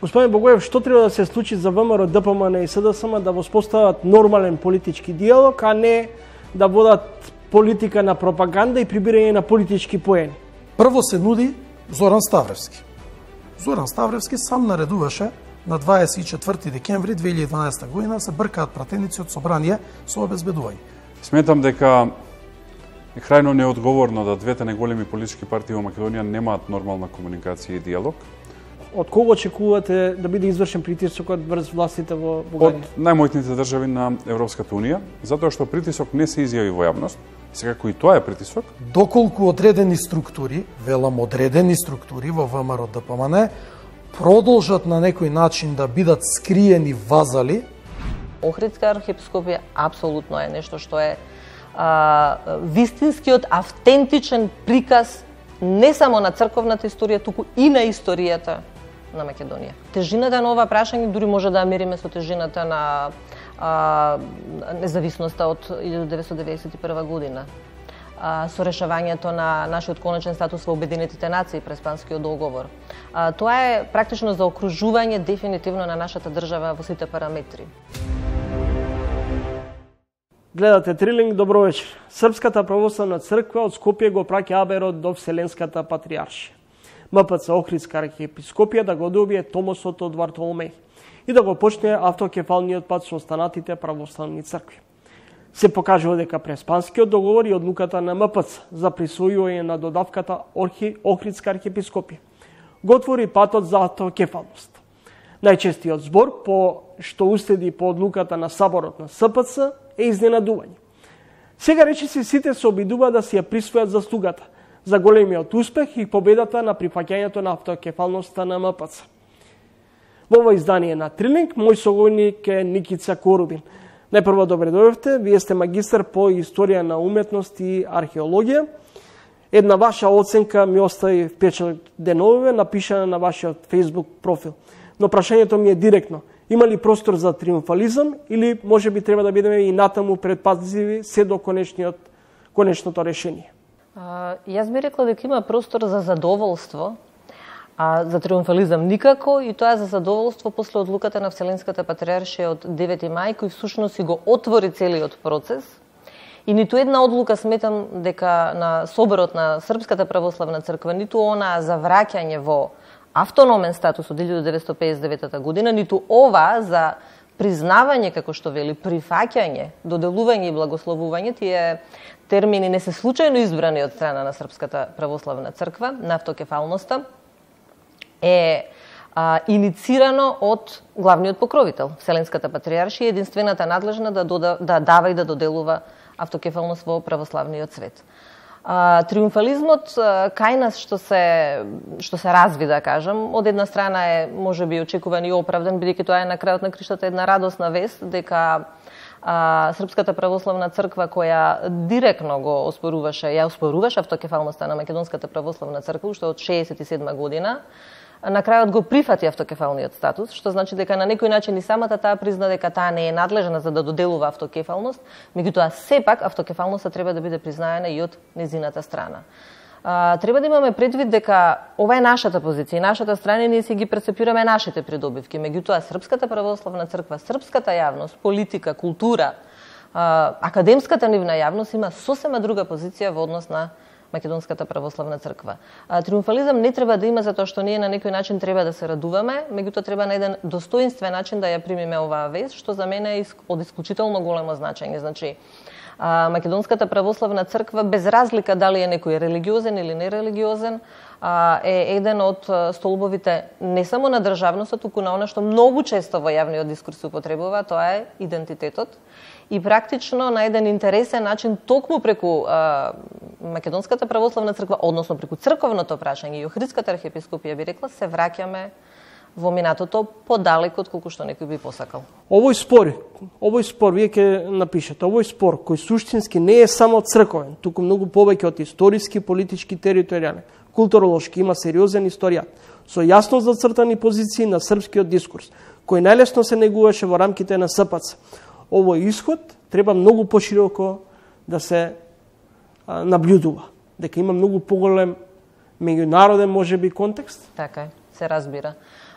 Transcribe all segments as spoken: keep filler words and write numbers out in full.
Господин Богоев, што треба да се случи за ВМРО, ДПМН и СДСМ да воспостават нормален политички диалог, а не да водат политика на пропаганда и прибирање на политички поени? Прво се нуди Зоран Ставревски. Зоран Ставревски сам наредуваше на дваесет и четврти декември две илјади и дванаесета година се бркаат пратеници од собрание со обезбедување. Сметам дека е крајно неодговорно да двете најголеми политички партии во Македонија немаат нормална комуникација и диалог. Од кого очекувате да биде извршен притисокот врз властите во Бугарија? Од најмоćните држави на Европската унија, затоа што притисок не се изјави во јавност, секако и тоа е притисок. Доколку одредени структури, велам одредени структури во ВМРО ДПМН, продолжат на некој начин да бидат скриени вазали. Охридска архиепископија апсолутно е нешто што е а, вистинскиот автентичен приказ не само на црковната историја, туку и на историјата на Македонија. Тежината на ова прашање дури може да ја мериме со тежината на а, независноста од илјада деветстотини деветдесет и прва година. А, со решавањето на нашиот конечен статус во Обединетите нации през Панскиот договор. А, тоа е практично заокружување дефинитивно на нашата држава во сите параметри. Гледате Трилинг, добро вечер. Српската православна црква од Скопје го праќа аберот до Вселенската патриаршија. МПЦ Охридска архиепископија да го добие томосот од Вартоломеј и да го почне автокефалниот пат со останатите православни цркви. Се покажува дека Преспанскиот договор и одлуката на МПЦ за присвојување на додавката Охридска архиепископија го отвори патот за автокефалност. Најчестиот збор по што уследи по одлуката на Саборот на СПЦ е изненадување. Сега речиси сите се обидуваат да си ја присвојат заслугата за големиот успех и победата на прифаќањето на автокефалноста на МПЦ. Во ова издание на Трилинг, мој соговорник е Никица Корубин. Најпрво добре дојдовте, вие сте магистар по историја на уметност и археологија. Една ваша оценка ми остави впечаток деновиве, напишана на вашиот Facebook профил. Но прашањето ми е директно. Има ли простор за триумфализам или може би треба да бидеме и натаму предпазливи се до конечниот, конечното решение? А, јас би рекла дека има простор за задоволство, а за триумфализам никако, и тоа за задоволство после одлуката на Вселенската патриаршија од девети мај, кој всушност и го отвори целиот процес. И ниту една одлука сметам дека на соборот на Српската православна црква, ниту она за враќање во автономен статус од илјада деветстотини песет и девета година, ниту ова за признавање, како што вели, прифаќање, доделување и благословување, тие термини не се случајно избрани од страна на Српската православна црква, на автокефалноста, е а, иницирано од главниот покровител, Вселенската патриаршија, единствената надлежна да, дода, да дава и да доделува автокефалност во православниот свет. А, триумфализмот а, кај нас што се што се разви, да кажам, од една страна е можеби очекуван и оправдан, бидејќи тоа е на крајот на криштата една радосна вест дека а, Српската православна црква, која директно го оспоруваше, ја оспоруваше автокефалноста на Македонската православна црква уште од шеесет и седма година, на крајот го прифати автокефалниот статус, што значи дека на некој начин и самата таа призна дека таа не е надлежна за да доделува автокефалност, меѓутоа сепак автокефалноста треба да биде признаена и од незината страна. А, треба да имаме предвид дека ова е нашата позиција, нашата страна, и ние си ги прецепираме нашите придобивки, меѓутоа Српската православна црква, српската јавност, политика, култура, а, академската нивна јавност има сосема друга позиција во однос на Македонската православна црква. А, триумфализам не треба да има затоа што ние на некој начин треба да се радуваме, меѓутоа треба на еден достоинствен начин да ја примиме оваа вест, што за мене е од исклучително големо значење. Значи, а, Македонската православна црква, без разлика дали е некој религиозен или нерелигиозен, а, е еден од столбовите не само на државноста, туку на она што многу често во јавниот дискурс се употребува, тоа е идентитетот. И практично на еден интересен начин, токму преку а, Македонската православна црква, односно преку црковното прашање и Охридската архиепископија, би рекла, се враќаме во минатото подалеку од колку што некој би посакал. Овој спор, овој спор, вие ќе напишете, овој спор кој суштински не е само црковен, туку многу повеќе од историски, политички, територијален, културолошки, има сериозен историјат, со јасно зацртани позиции на српскиот дискурс, кој најлесно се негуваше во рамките на СПЦ. Овој исход треба многу пошироко да се а, наблюдува, дека има многу поголем меѓународен можеби контекст. Така е, се разбира.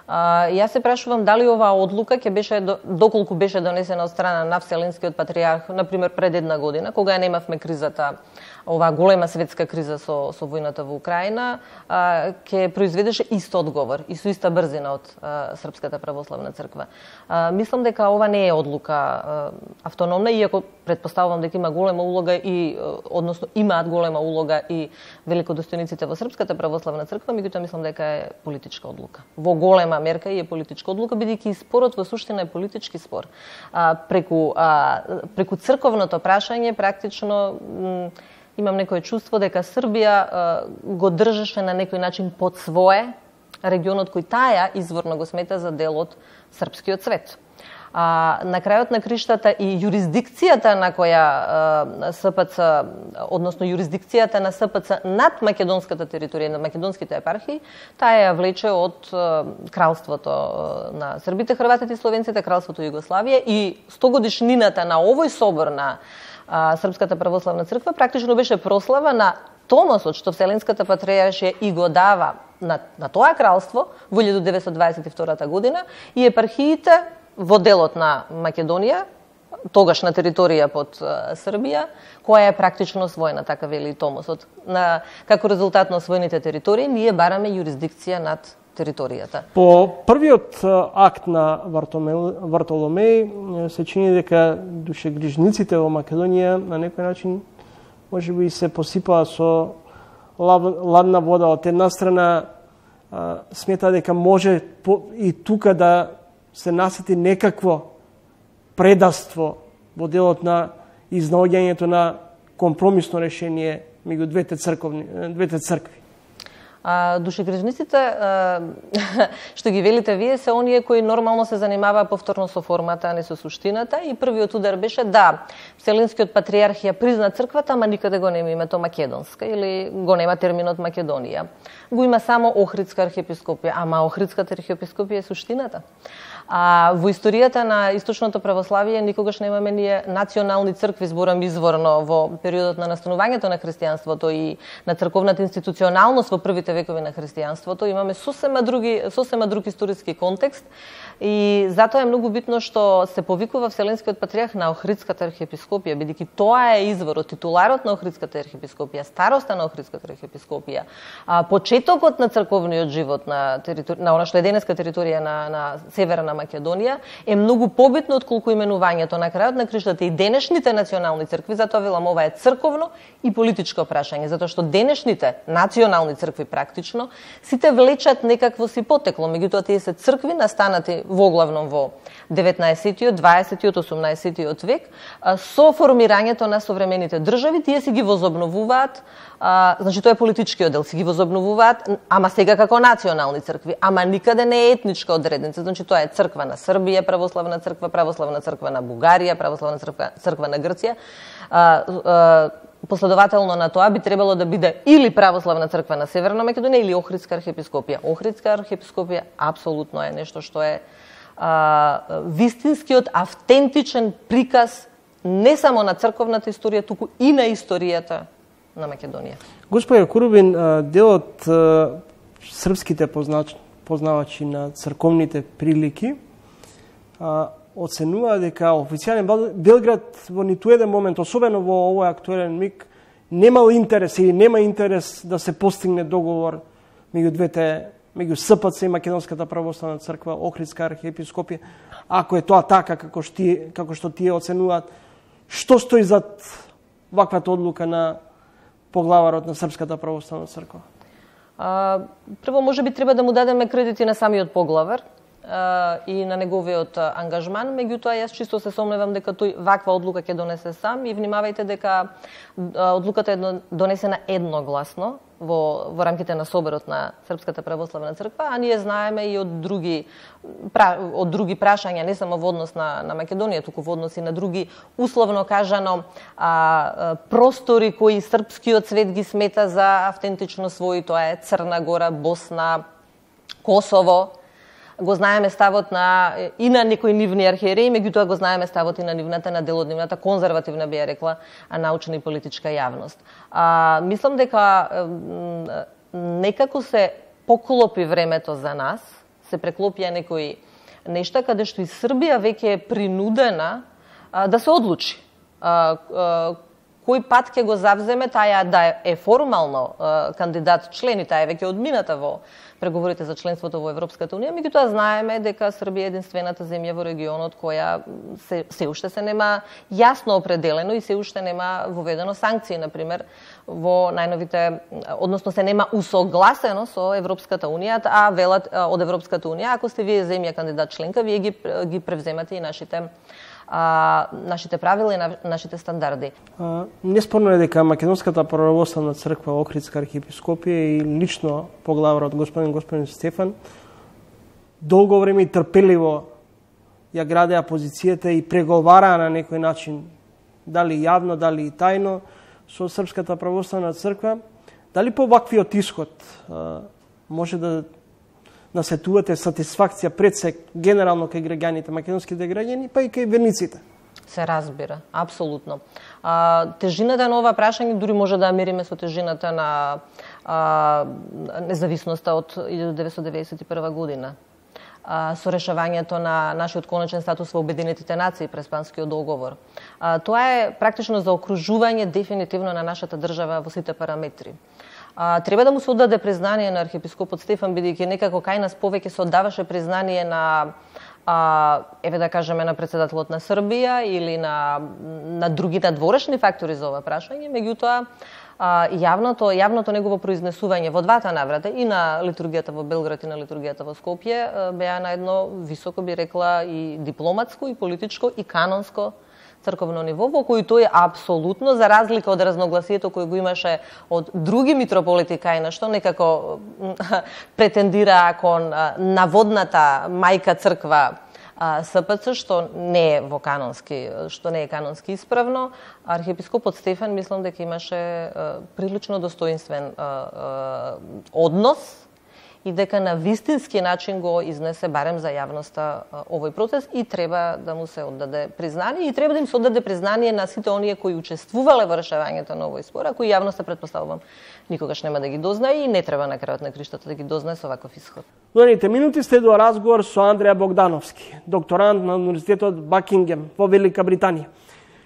А, јас се прашувам дали оваа одлука ќе беше доколку беше донесена од страна на Вселенскиот патриарх, на пример пред една година, кога ја немавме кризата, оваа голема светска криза со со војната во Украина, а, ќе произведеше ист одговор и со иста брзина од а, Српската православна црква. А, мислам дека ова не е одлука а, автономна, иако претпоставувам дека има голема улога и односно имаат голема улога и великодостојниците во Српската православна црква, меѓутоа мислам дека е политичка одлука. Во голема мерка и е политичка одлука, бидејќи спорот во суштина е политички спор. А, преку а, преку црковното прашање практично имам некое чувство дека Србија а, го држеше на некој начин под свое регионот кој таја изворно го смета за дел од српскиот свет. А, на крајот на криштата и юрисдикцијата на која а, СПЦ, односно юрисдикцијата на СПЦ над македонската територија, на македонските епархии, таа ја влече од а, кралството а, на србите, хрватите и словенците, кралството Југославија, и стогодишнината на овој собор на а, Српската православна црква практично беше прослава на томосот што Вселенската патријаршија и го дава на, на тоа кралство во илјада деветстотини дваесет и втора година, и епархиите во делот на Македонија, тогаш на територија под uh, Србија, која е практично освоена, така вели Томосот. На, како резултат на освоените територии, ние бараме юрисдикција над територијата. По првиот акт на Вартоломеј се чини дека душегрижниците во Македонија на некој начин може би се посипаа со ладна вода. Од една страна смета дека може и тука да се насети некакво предаство во делот на изнаоѓањето на компромисно решение меѓу двете црковни, двете цркви. А, душегрижниците, а, што ги велите вие, се оние кои нормално се занимаваа повторно со формата, а не со суштината, и првиот удар беше да, Вселенскиот патриарх ја призна црквата, ама никаде го нема името Македонска или го нема терминот Македонија. Го има само Охридска архиепископија, ама Охридската архиепископија е суштината. А во историјата на источното православие никогаш немаме ние национални цркви, зборам изворно, во периодот на настанувањето на христијанството и на црковната институционалност во првите векови на христијанството. Имаме сосема други, сосема друг историски контекст, и затоа е многу битно што се повикува Вселенскиот патриарх на Охридската архиепископија, бидејќи тоа е изворот, титуларот на Охридската архиепископија, староста на Охридската архиепископија, а почетокот на црковниот живот на територи... на она што е денеска територија на, на северна Македонија е многу побитно отколку именувањето на крајот на криштата и денешните национални цркви. Затоа велам, ова е црковно и политичко прашање, затоа што денешните национални цркви практично сите влечат некакво си потекло, меѓутоа тие се цркви настанати воглавном во деветнаесеттиот, дваесеттиот, осумнаесеттиот век, со формирањето на современите држави, тие си ги возобновуваат, а, значи тоа е политичкиот дел, си ги возобновуваат, ама сега како национални цркви, ама никаде не е етничка одредница, значи тоа е црква на Србија, православна црква, православна црква на Бугарија, православна црква, црква на Грција. А, а, Последователно на тоа би требало да биде или православна црква на Северна Македонија или Охридска архиепископија. Охридска архиепископија апсолутно е нешто што е а, вистинскиот автентичен приказ не само на црковната историја, туку и на историјата на Македонија. Господи Курубин, делот српските познач, познавачи на црковните прилики оценува дека официјален Белград во ниту еден момент, особено во овој актуелен миг, немал интерес или нема интерес да се постигне договор меѓу двете, меѓу СПЦ и Македонската православна црква, Охридска архиепископија. Ако е тоа така како што тие, како што тие оценуваат, што стои зад ваквата одлука на поглаварот на Српската православна црква? А, прво, може би треба да му дадеме кредити на самиот поглавар и на неговиот ангажман, меѓутоа јас чисто се сомневам дека тој ваква одлука ќе донесе сам, и внимавајте дека одлуката е донесена едногласно во, во рамките на соборот на Српската православна црква, а ние знаеме и од други од други прашања, не само во однос на, на Македонија, туку во однос и на други, условно кажано, а, простори кои српскиот свет ги смета за автентично своји, тоа е Црна Гора, Босна, Косово. Го знаеме ставот на и на некои нивни архиереи, меѓутоа го знаеме ставот и на нивната, на дел од нивната конзервативна, би ја рекла, научна и политичка јавност. А, мислам дека некако се поклопи времето за нас, се преклопија некои нешта каде што и Србија веќе е принудена а, да се одлучи. А, а, кој пат ќе го завземе, таја да е формално а, кандидат член и таа е веќе одмината во преговорите за членството во Европската унија, меѓутоа знаеме дека Србија е единствената земја во регионот која се, се уште се нема јасно определено и се уште нема воведено санкции, например, во најновите, односно се нема усогласено со Европската унија, а велат од Европската унија, ако сте вие земја кандидат членка, вие ги, ги превземате и нашите а, нашите правила и нашите стандарди. А, неспорно е дека Македонската православна црква Охридска архиепископија и лично поглаварот господин господин Стефан долго време и трпеливо ја градеа позицијата и преговараа на некој начин, дали јавно, дали и тајно, со Српската православна црква. Дали по ваквиот исход а, може да насетувате сатисфакција пред се генерално кај граѓаните, македонските граѓани, па и кај верниците? Се разбира, апсолутно. А, тежината на ова прашање дури може да ја мериме со тежината на а, независноста од илјадесетстотини деветдесет и прва година. А, со решавањето на нашиот конечен статус во Обединетите нации през Панскиот договор. А, тоа е практично заокружување дефинитивно на нашата држава во сите параметри. А, треба да му се оддаде признание на архиепископот Стефан, бидејќи некако кај нас повеќе се оддаваше признание на а, еве да кажеме на претседателот на Србија или на на други надворешни фактори за ова прашање, меѓутоа а, јавното јавното негово произнесување во двата наврата и на литургијата во Белград и на литургијата во Скопје беа на едно високо, би рекла, и дипломатско, и политичко, и канонско црковно ниво, во кој тој апсолутно, за разлика од разногласието кој го имаше од други митрополити кај на што некако претендира кон наводната мајка црква С П Ц, што не е во канонски, што не е канонски исправно, архиепископот Стефан мислам дека имаше прилично достоинствен однос и дека на вистински начин го изнесе барем за јавноста овој процес и треба да му се оддаде признание и треба да им се оддаде признание на сите оние кои учествувале во решавањето на овој спор, а кои јавноста претпоставувам никогаш нема да ги дознае и не треба на крајот на криштата да ги дознае со ваков исход. Доните минути следува разговор со Андреја Богдановски, докторант на Универзитетот Бакингем во Велика Британија,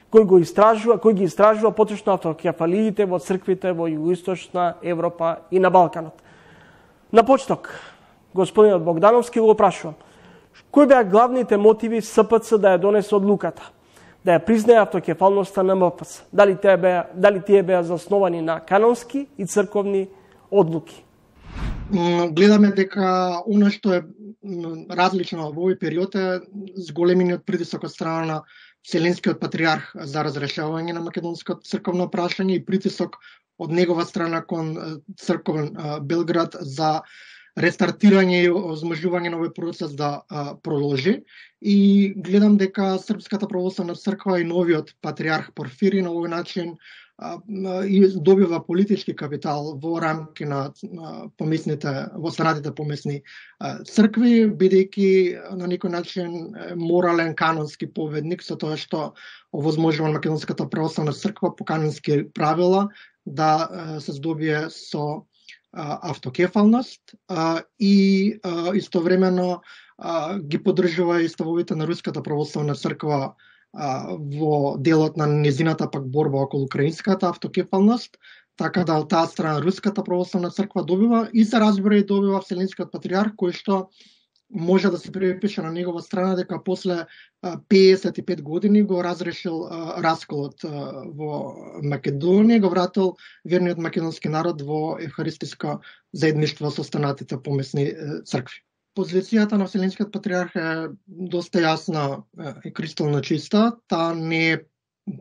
кој го истражува, кој ги истражува поточно автокефалиите во црквите во југоисточна Европа и на Балканот. На почеток, господинот Богдановски го прашувам, кои беа главните мотиви С П Ц да ја донесе одлуката, да ја признае автокефалноста на М П С? Дали тие беа, дали тие беа засновани на канонски и црковни одлуки? Гледаме дека она што е различно во овој период е зголемениот притисок од страна на Вселенскиот патриарх за разрешавање на македонското црковно прашање и притисок од негова страна кон црковен Белград за рестартирање и озможување на овој процес да а, продолжи. И гледам дека Српската православна црква и новиот патриарх Порфири на овој начин а, и добива политички капитал во рамки на а, помесните, во останатите помесни а, цркви, бидејќи на некој начин морален канонски поведник со тоа што овозможува Македонската православна црква по канонски правила да се здобие со а, автокефалност а, и а, истовремено а, ги поддржува и ставовите на Руската православна црква а, во делот на незината пак борба околу украинската автокефалност, така да од таа страна Руската православна црква добива и се разбира и добива Вселенскиот патриарх, кој што може да се припише на негова страна дека после пеесет и пет години го разрешил а, расколот а, во Македонија, го вратил верниот македонски народ во евхаристиско заедништво со останатите помесни цркви. Позицијата на Вселенскиот патриарх е доста јасна и кристално чиста. Таа не е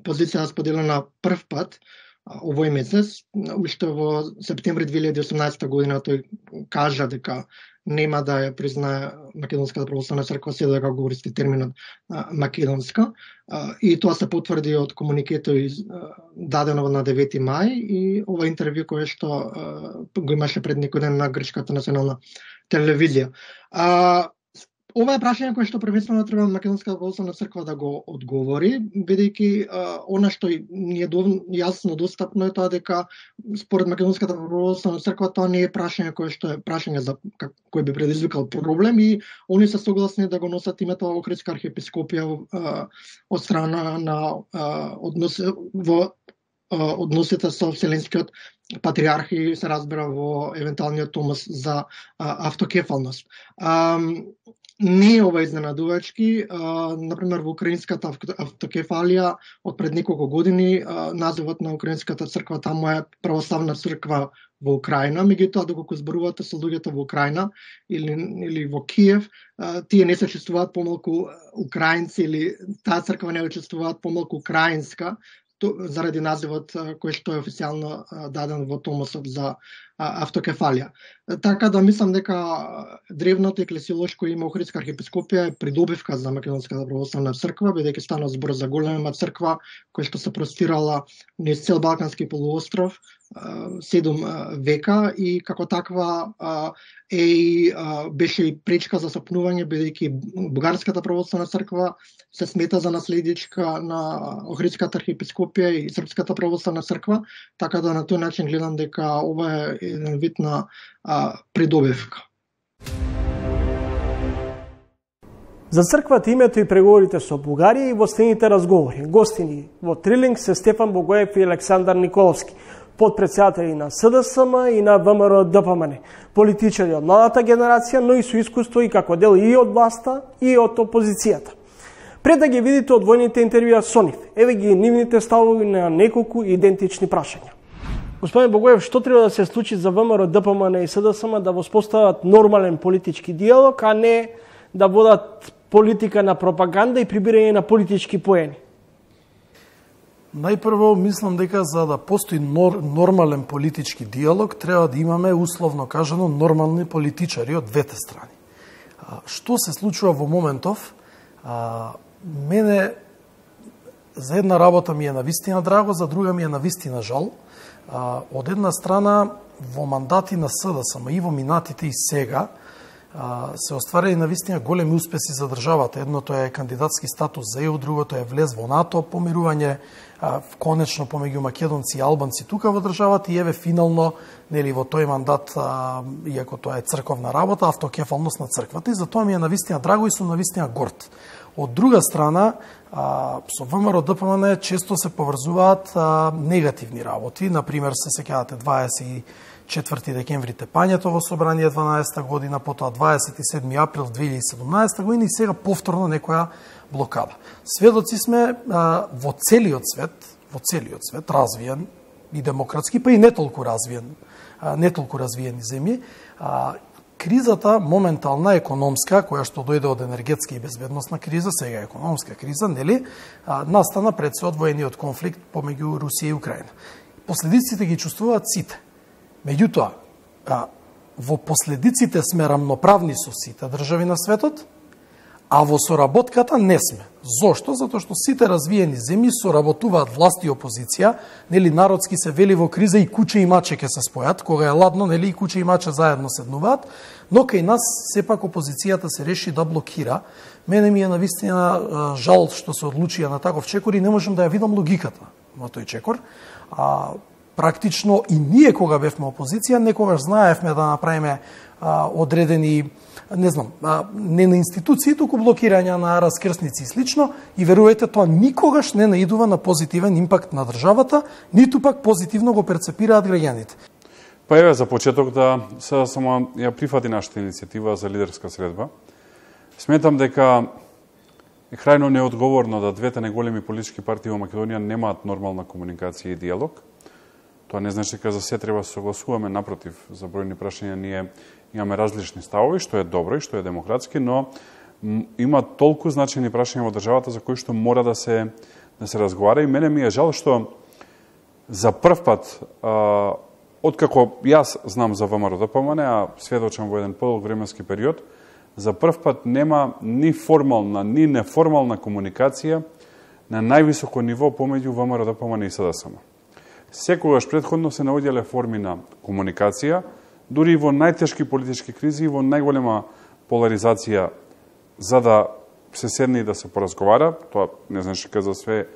позиција споделена прв пат овој месец. Уште во септември две илјади и осумнаесета година тој кажа дека нема да ја признае Македонската православна црква, се дека го користи терминот а, македонска. А, и тоа се потврди од комуникето из, а, дадено на девети мај и ова интервју кое што а, го имаше пред некој ден на грчката национална телевизија. А, Ова е прашање кое што првенствено треба Македонската православна црква да го одговори, бидејќи она што ни е јасно достапно е тоа дека според Македонската православна црква тоа не е прашање кое што е прашање за кој би предизвикал проблем и они се согласни да го носат името Охридска архиепископија од страна на однос во односите со Вселенскиот патриарх и се разбира во евентуалниот томос за автокефалност. Не е ова изненадувачки. Например, во украинската автокефалија од пред неколку години називот на украинската црква таму е Православна црква во Украина, меѓутоа доколку зборувате со луѓето во Украина или или во Киев, тие не се чувствуваат помалку украинци или таа црква не чувствуваат помалку украинска заради називот кој што е официјално даден во томосот за автокефалија. Така да мислам дека древното еклесиолошко име Охридска архиепископија е придобивка за Македонската православна црква, бидејќи стана збор за голема црква која што се простирала низ цел Балкански полуостров седум века и како таква е и беше и пречка за сопнување, бидејќи Бугарската православна црква се смета за наследичка на Охридската архиепископија и Српската православна црква, така да на тој начин гледам дека ова е еден вид на а, придобивка. За црквата името и преговорите со Бугарија и во следните разговори. Гостини во Трилинг се Стефан Богоев и Александар Николовски, подпредседатели на С Д С М и на В М Р Д П М Н, политичари од младата генерација, но и со искуство и како дел и од власта и од опозицијата. Пред да ги видите одвојните интервјуа со нив, еве ги нивните ставови на неколку идентични прашања. Господин Богоев, што треба да се случи за В М Р Д П М Н и С Д С М да воспостават нормален политички диалог, а не да водат политика на пропаганда и прибирање на политички поени? Најпрво, мислам дека за да постои нор, нормален политички диалог, треба да имаме, условно кажано, нормални политичари од двете страни. А, што се случува во моментов? А, мене за една работа ми е навистина драго, за друга ми е навистина жал. А, од една страна, во мандати на С Д С М и во минатите и сега, се остварени навистина големи успеси за државата. Едното е кандидатски статус за Е У, другото е влез во НАТО, помирување конечно помеѓу македонци и албанци тука во државата и еве финално, нели, во тој мандат, иако тоа е црковна работа, автокефалност на црквата и затоа ми е навистина драго и сум навистина горд. Од друга страна, со В М Р Д П М Н често се поврзуваат негативни работи, например се сеќавате дваесет и четврти декември тепањето во собрание дванаесета година, потоа дваесет и седми април две илјади и седумнаесета година и сега повторно некоја блокада. Сведоци сме а, во целиот свет, во целиот свет развиен и демократски, па и не толку развиен, а, не толку развиени земји, а, кризата моментална економска, која што дојде од енергетска и безбедносна криза, сега економска криза, нели, а, настана пред се од воениот конфликт помеѓу Русија и Украина. Последиците ги чувствуваат сите. Меѓутоа, во последиците сме рамноправни со сите држави на светот, а во соработката не сме. Зошто? Затоа што сите развиени земји соработуваат власт и опозиција, нели, народски се вели во криза и куче и маче ќе се спојат, кога е ладно, нели, и куче и маче заедно седнуваат, но кај нас сепак опозицијата се реши да блокира. Мене ми е навистина жал што се одлучија на таков чекор и не можам да ја видам логиката во тој чекор. А, практично и ние кога бевме опозиција, некогаш знаевме да направиме а, одредени, не знам, а, не на институции, туку блокирање на раскрсници и слично, и верувајте, тоа никогаш не наидува на позитивен импакт на државата, ниту пак позитивно го перцепираат граѓаните. Па еве за почеток да се само ја прифати нашата иницијатива за лидерска средба. Сметам дека е крајно неодговорно да двете најголеми политички партии во Македонија немаат нормална комуникација и диалог. Тоа не значи дека за се треба да се согласуваме, напротив, за бројни прашања ние имаме различни ставови, што е добро и што е демократски, но има толку значајни прашања во државата за кои што мора да се да се разговара и мене ми е жал што за прв пат, а, откако јас знам за В М Р Д П М Н, а сведочам во еден подолг временски период, за прв пат нема ни формална, ни неформална комуникација на највисоко ниво помеѓу В М Р Д П М Н и С Д С М. Секогаш претходно се наоѓале форми на комуникација, дури и во најтешки политички кризи и во најголема поларизација за да се седне и да се поразговара, тоа не знаеш дека за све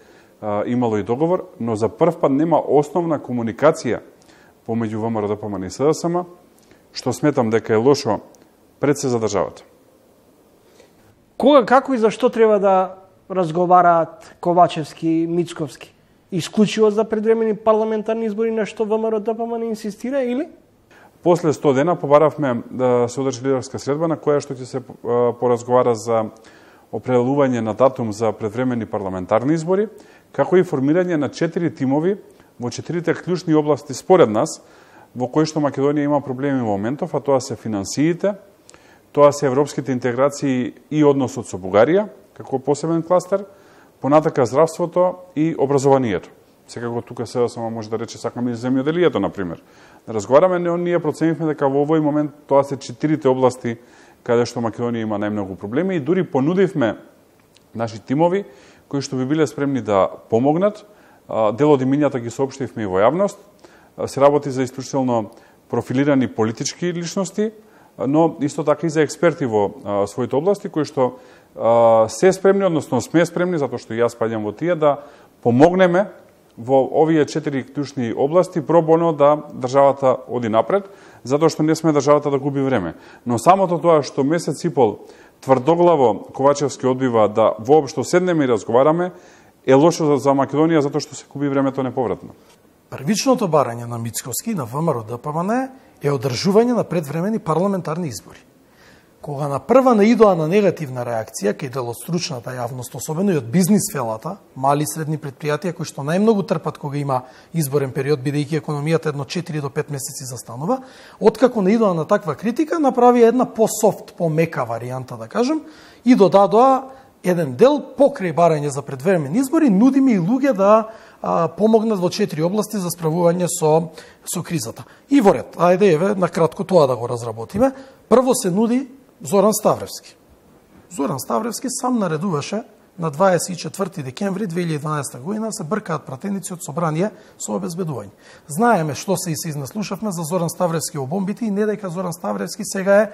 а, имало и договор, но за прв пат нема основна комуникација помеѓу ВМРО Д П М Н и С Д С М, што сметам дека е лошо пред се за државата. Кога, како и зашто треба да разговараат Ковачевски, Мицковски? Исклучиво за предвремени парламентарни избори, на што ВМРО Д П М Н инсистира, или? После сто дена побаравме да се одржи лидерска средба на која што ќе се поразговара за определување на датум за предвремени парламентарни избори, како и формирање на четири тимови во четирите клучни области според нас, во кои што Македонија има проблеми во моментов, а тоа се финансиите, тоа се европските интеграции и односот со Бугарија, како посебен кластер, понатака здравството и образованието. Секако тука се само може да рече сакаме и земјоделието, например. Да разговараме, но ние проценивме дека во овој момент тоа се четирите области каде што Македонија има најмногу проблеми и дури понудивме наши тимови кои што би биле спремни да помогнат. Дел од имињата ги соопштивме и во јавност. Се работи за исклучително профилирани политички личности, но исто така и за експерти во а, своите области, кои што а, се спремни, односно сме спремни, затоа што јас паѓам во тие, да помогнеме во овие четири клучни области, пробоно да државата оди напред, затоа што не сме државата да губи време. Но самото тоа што месец и пол тврдоглаво Ковачевски одбива да воопшто седнеме и разговараме, е лошо за Македонија, затоа што се губи времето неповратно. Првичното барање на Мицковски на ВМРО Д П М Н е одржување на предвремени парламентарни избори. Кога на прва наидоа на негативна реакција кај дел од стручната јавност, особено и од бизнис фелата, мали и средни предпријатија кои што најмногу трпат кога има изборен период, бидејќи економијата едно четири до пет месеци застанува, откако наидоа на таква критика, направи една по-софт, по-мека варијанта, да кажем, и додадоа еден дел покрај барање за предвремени избори, нудиме и луѓе да а, помогнат во четири области за справување со, со кризата. И во ред, ајде еве, на кратко тоа да го разработиме. Прво се нуди Зоран Ставревски. Зоран Ставревски сам наредуваше на дваесет и четврти декември две илјади и дванаесета година се бркаат пратеници од собрание со обезбедување. Знаеме што се и се изнаслушавме за Зоран Ставревски во бомбите и не дека Зоран Ставревски сега е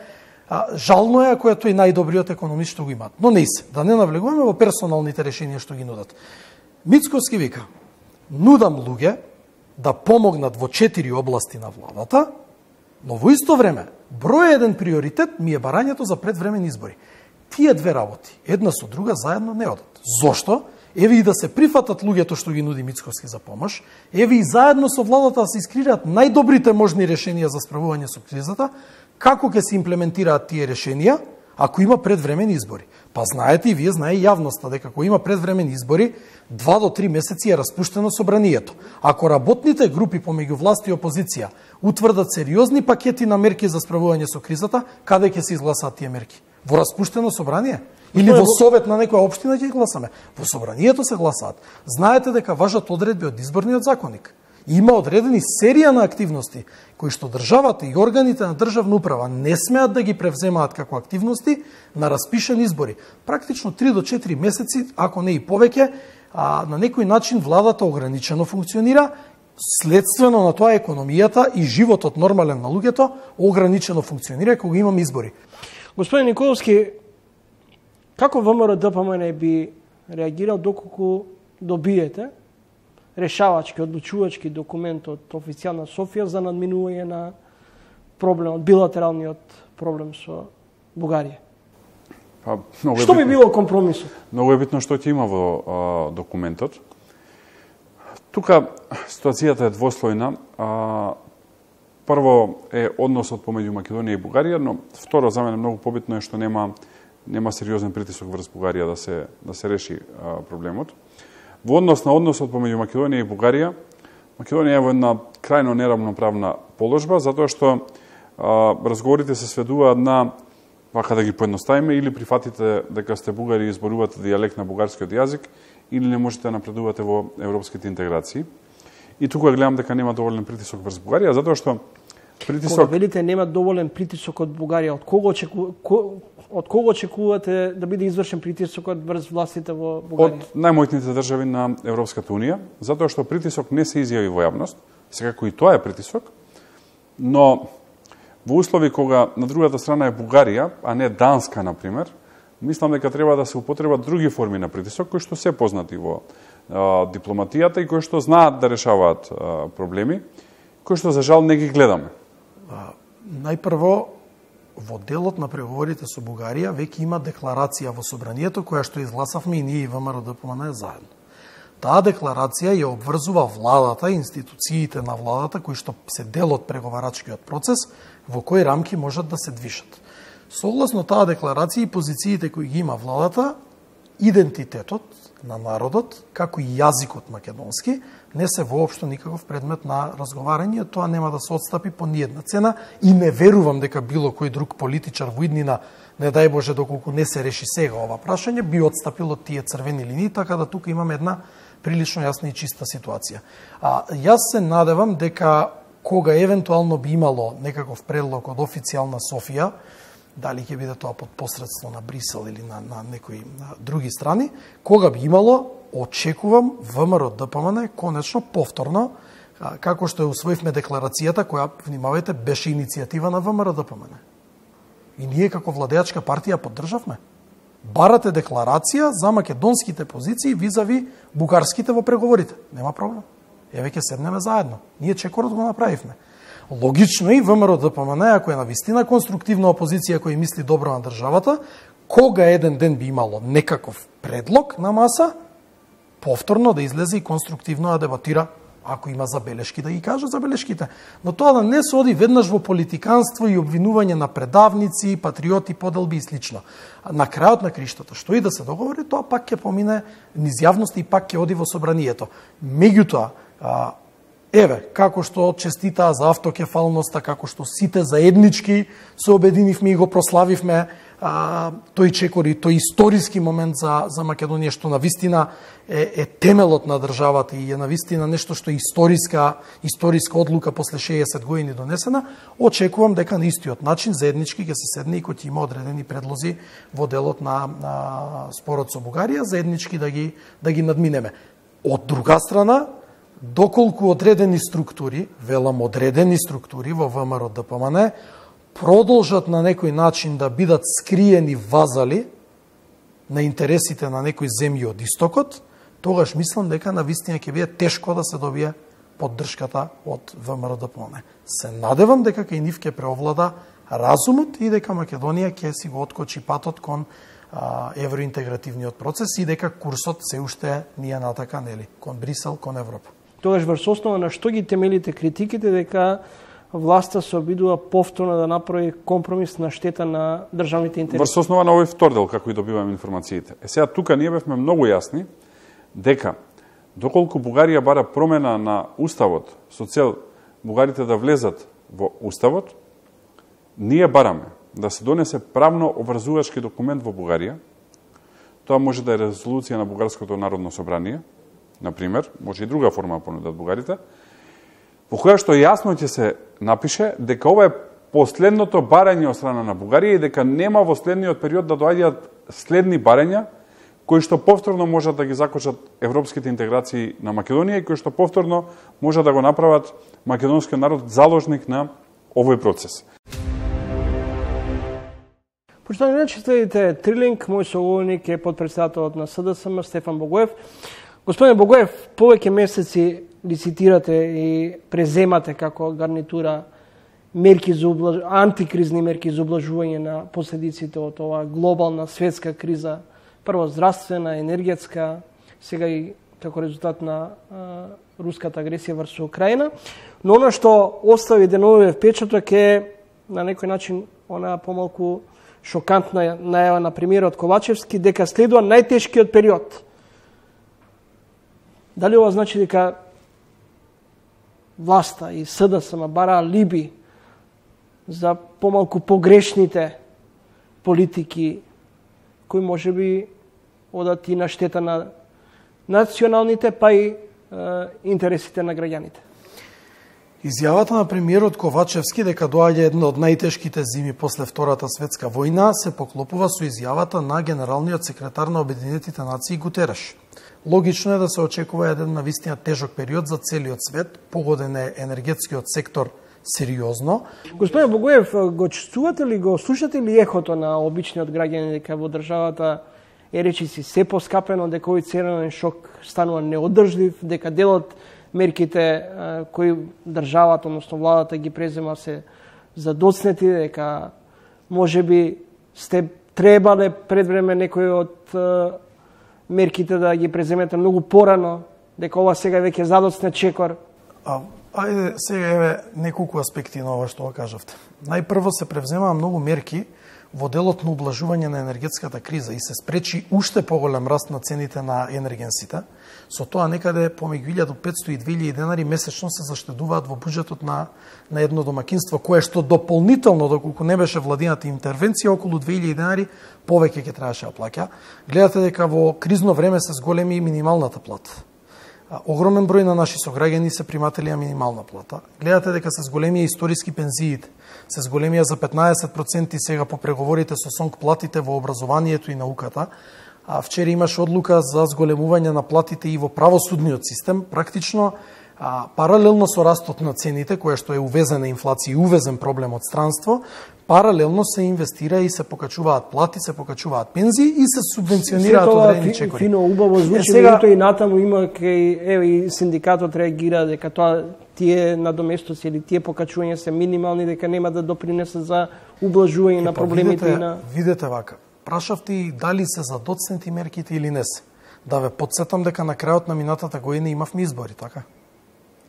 а, жално е ако е тој најдобриот економист што го имаат. Но не се, да не навлегуваме во персоналните решенија што ги нудат. Мицковски вика: нудам луѓе да помогнат во четири области на владата, но во исто време број еден приоритет ми е барањето за предвремени избори. Тие две работи, една со друга, заедно не одат. Зошто? Еве и да се прифатат луѓето што ги нуди Мицковски за помош, еве и заедно со владата да се искреираат најдобрите можни решенија за справување со кризата, како ќе се имплементираат тие решенија ако има предвремени избори. Па знаете и вие, знае и јавноста, дека ако има предвремени избори, два до три месеци е распуштено собранието. Ако работните групи помеѓу власт и опозиција утврдат сериозни пакети на мерки за справување со кризата, каде ќе се изгласаат тие мерки? Во распуштено собрание? Или во совет на некоја општина ќе гласаме? Во собранието се гласаат. Знаете дека важат одредби од изборниот законник. Има одредени серија на активности кои што државата и органите на државна управа не смеат да ги превземаат како активности на распишени избори. Практично три до четири месеци, ако не и повеќе, а на некој начин владата ограничено функционира, следствено на тоа економијата и животот нормален на луѓето ограничено функционира кога имаме избори. Господин Николовски, како ВМРО Д П М Н би реагирал доколку добиете решавачки, одлучувачки документ од официјална Софија за надминување на проблемот, билатералниот проблем со Бугарија? Па, што битно, би било компромисот? Многу е битно што ќе има во а, документот. Тука ситуацијата е двослојна. А, прво е односот помеѓу Македонија и Бугарија, но второ за мене многу побитно е што нема нема сериозен притисок врз Бугарија да се да се реши а, проблемот. Во однос на односот помеѓу Македонија и Бугарија, Македонија е во една крајно неравноправна положба, затоа што а, разговорите се сведуваат на, вака да ги поедноставиме, или прифатите дека сте бугари и изборувате дијалект на бугарскиот јазик, или не можете да напредувате во европските интеграции. И тука гледам дека нема доволен притисок врз Бугарија, затоа што притисок... Кога велите нема доволен притисок од Бугарија, од кого очеку... од кого очекувате да биде извршен притисокот врз властите во Бугарија? Од најмоćните држави на Европската унија, затоа што притисок не се изјави во јавност, секако и тоа е притисок, но во услови кога на другата страна е Бугарија, а не Данска, например, мислам дека треба да се употребат други форми на притисок кои што се познати во а, дипломатијата и кои што знаат да решаваат а, проблеми, кои што за жал не ги гледаме. А, најпрво, во делот на преговорите со Бугарија веќе има декларација во собранието која што изгласавме и ние и ВМРО-ДПМН заедно. Таа декларација ја обврзува владата, институциите на владата кои што се дел од преговарачкиот процес, во кои рамки можат да се движат. Согласно таа декларација и позициите кои ги има владата, идентитетот на народот, како и јазикот македонски, не се воопшто никаков предмет на разговарање, тоа нема да се отстапи по ниедна цена и не верувам дека било кој друг политичар во иднина, не дај Боже доколку не се реши сега ова прашање, би отстапил од тие црвени линии, така да тука имаме една прилично јасна и чиста ситуација. А јас се надевам дека кога евентуално би имало некаков предлог од официјална Софија, дали ќе биде тоа под посредство на Брисел или на, на некои на други страни, кога би имало, очекувам ВМРО-ДПМН конечно повторно, како што ја усвоивме декларацијата, која, внимавајте, беше иницијатива на ВМРО-ДПМН. И ние како владеачка партија поддржавме. Барате декларација за македонските позиции визави бугарските во преговорите. Нема проблем. Еве ќе седнеме заедно. Ние чекорот го направивме. Логично и ВМРО-ДПМН, ако е навистина конструктивна опозиција која мисли добро на државата, кога еден ден би имало некаков предлог на маса, повторно да излезе и конструктивно да дебатира, ако има забелешки да ги каже забелешките. Но тоа да не се оди веднаш во политиканство и обвинување на предавници, патриоти, поделби и слично. На крајот на криштата, што и да се договори, тоа пак ќе помине низ јавност и пак ќе оди во собранието. Меѓутоа, еве, како што честитаа за автокефалноста, како што сите заеднички се обединивме и го прославивме а, тој чекори, тој историски момент за, за Македонија, што на вистина е, е темелот на државата и е на вистина нешто што е историска, историска одлука после шеесет години донесена, очекувам дека на истиот начин заеднички ќе се седне и кој ќе има одредени предлози во делот на, на спорот со Бугарија, заеднички да ги, да ги надминеме. Од друга страна, доколку одредени структури, велам одредени структури во ВМРО-ДПМН, продолжат на некој начин да бидат скриени вазали на интересите на некои земји од истокот, тогаш мислам дека на вистина ќе биде тешко да се добие поддршката од ВМРО-ДПМН. Се надевам дека кај нив ќе преовлада разумот и дека Македонија ќе си го откочи патот кон а, евроинтегративниот процес и дека курсот се уште ние натака, нели, кон Брисел, кон Европа. Тогаш врз основа на што ги темелите критиките дека власта се обидува повторно да направи компромис на штета на државните интереси? Врз основа на овој втор дел, како и добиваме информациите. Е сега тука ние бевме многу јасни дека доколку Бугарија бара промена на уставот со цел бугарите да влезат во уставот, ние бараме да се донесе правно обврзувачки документ во Бугарија. Тоа може да е резолуција на Бугарското народно собрание, например, може и друга форма понудат бугарите, во која што јасно ќе се напише дека ова е последното барање од страна на Бугарија и дека нема во следниот период да доаѓаат следни барања кои што повторно можат да ги закочат европските интеграции на Македонија и кои што повторно можат да го направат македонскиот народ заложник на овој процес. Почитани граѓани, следите Трилинг, мој соговорник е подпредседателот на СДСМ Стефан Богоев. Господине Богоев, повеќе месеци лицитирате и преземате како гарнитура мерки за облаж... антикризни мерки за облажување на последиците од оваа глобална светска криза, прво здравствена, енергетска, сега и како резултат на а, руската агресија врз Украина. Но она што остави деновиве впечаток е на некој начин она помалку шокантна најава на премиерот Ковачевски дека следува најтешкиот период. Дали ова значи дека власта и СДСМ бараа либи за помалку погрешните политики кои може би одат и на штета на националните, па и е, интересите на граѓаните? Изјавата на премиерот Ковачевски дека доаѓа една од најтешките зими после Втората светска војна се поклопува со изјавата на генералниот секретар на Обединетите нации Гутереш. Логично е да се очекува еден навистина тежок период за целиот свет, погоден е енергетскиот сектор сериозно. Господин Богоев, го чувствувате ли, го слушате ли ехото на обичниот граѓанин дека во државата е речиси се поскапено, дека овој ценен шок станува неодржлив, дека делот мерките кои државата, односно владата ги презема се задоцнети, дека можеби сте требале пред време некои од мерките да ги преземете многу порано, дека ова сега веќе задоцне чекор? А, ајде сега еве неколку аспекти на ова што го кажавте. Најпрво се превземаа многу мерки во делот на ублажување на енергетската криза и се спречи уште поголем раст на цените на енергенсите. Со тоа некаде помеѓу илјада и петстотини и две илјади денари месечно се заштедуваат во буџетот на, на едно домакинство, кое што дополнително, доколку не беше владината интервенција, околу две илјади денари повеќе ќе требаше да плаќа. Гледате дека во кризно време се зголеми минималната плата. Огромен број на наши сограѓани се приматели на минимална плата. Гледате дека се зголемија историски пензиите, се зголемија за петнаесет проценти сега по преговорите со СОНК платите во образованието и науката. А вчера имаше одлука за зголемување на платите и во правосудниот систем. Практично, а, паралелно со растот на цените, која што е увезена инфлација и увезен проблем од странство, паралелно се инвестира и се покачуваат плати, се покачуваат пензии и се субвенционираат одредени чекори. Фино, убаво звучи, е, сега... и натаму има кај еве и синдикатот реагира дека тоа тие надоместоци или тие покачувања се минимални, дека нема да допринесат за ублажување на проблемите видете, и на видете вака. Прашавте и дали се задоцнети мерките или не се. Да ве подсетам дека на крајот на минатата година имавме избори, така?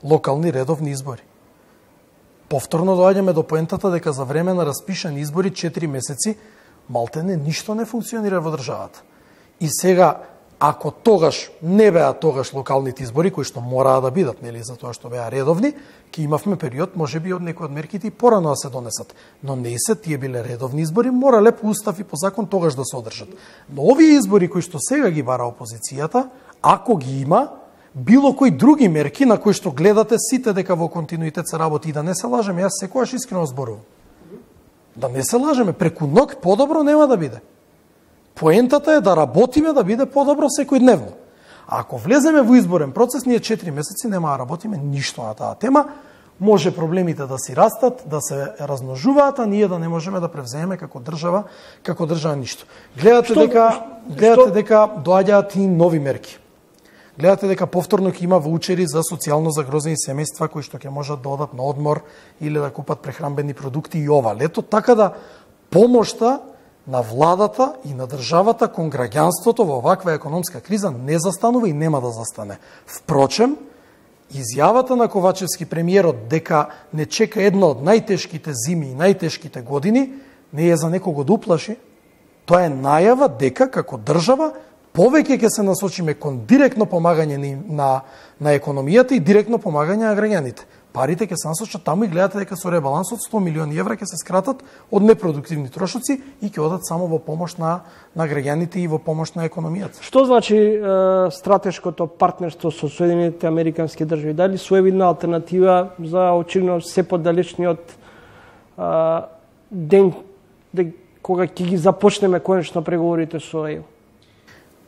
Локални редовни избори. Повторно доаѓаме до поентата дека за време на распишани избори четири месеци малтене ништо не функционира во државата. И сега, ако тогаш не беа тогаш локалните избори, кои што мораа да бидат, нели, за тоа што беа редовни, ќе имавме период, можеби од некои од мерките и порано да се донесат. Но не се, тие биле редовни избори, морале по устав и по закон тогаш да се одржат. Но овие избори кои што сега ги бара опозицијата, ако ги има, било кои други мерки на кои што гледате сите дека во континуитет се работи, и да не се лажеме, јас секогаш искрено зборувам. Да не се лажеме, преку ног подобро нема да биде. Поентата е да работиме да биде подобро секојдневно. А ако влеземе во изборен процес, ние четири месеци нема да работиме ништо на таа тема. Може проблемите да си растат, да се размножуваат, а ние да не можеме да превземеме како држава, како држава ништо. Гледате што, дека гледате што... дека доаѓаат и нови мерки. Гледате дека повторно ќе има ваучери за социјално загрозени семејства кои што ќе можат да одат на одмор или да купат прехранбени продукти и ова лето, така да помошта на владата и на државата кон граѓанството во оваква економска криза не застанува и нема да застане. Впрочем, изјавата на Ковачевски премиерот дека не чека една од најтешките зими и најтешките години не е за некого да уплаши. Тоа е најава дека како држава повеќе ќе се насочиме кон директно помагање на, на економијата и директно помагање на граѓаните. Парите ќе се насочат таму и гледате дека со ребалансот сто милиони евра ќе се скратат од непродуктивни трошоци и ќе одат само во помош на, на граѓаните и во помош на економијата. Што значи е, стратешкото партнерство со Соединетите Американски држави? Дали своевидна алтернатива за очевидно се подалечниот е, ден де, кога ќе ги започнеме конечно преговорите со ЕУ?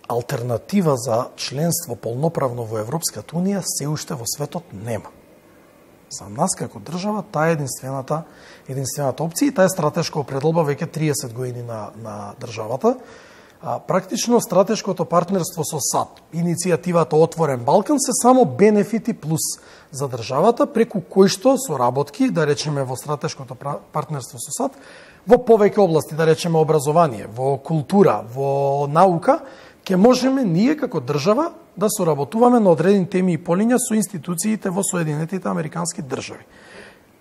Алтернатива за членство полноправно во Европската Унија се уште во светот нема. За нас како држава таа е единствената единствената опција и таа е стратешка определба веќе триесет години на на државата. А, практично стратешкото партнерство со САД, иницијативата Отворен Балкан се само бенефити плюс за државата, преку кои што соработки, да речеме во стратешкото партнерство со САД, во повеќе области, да речеме образование, во култура, во наука, ќе можеме ние како држава да соработуваме на одредени теми и полиња со институциите во Соединетите Американски држави.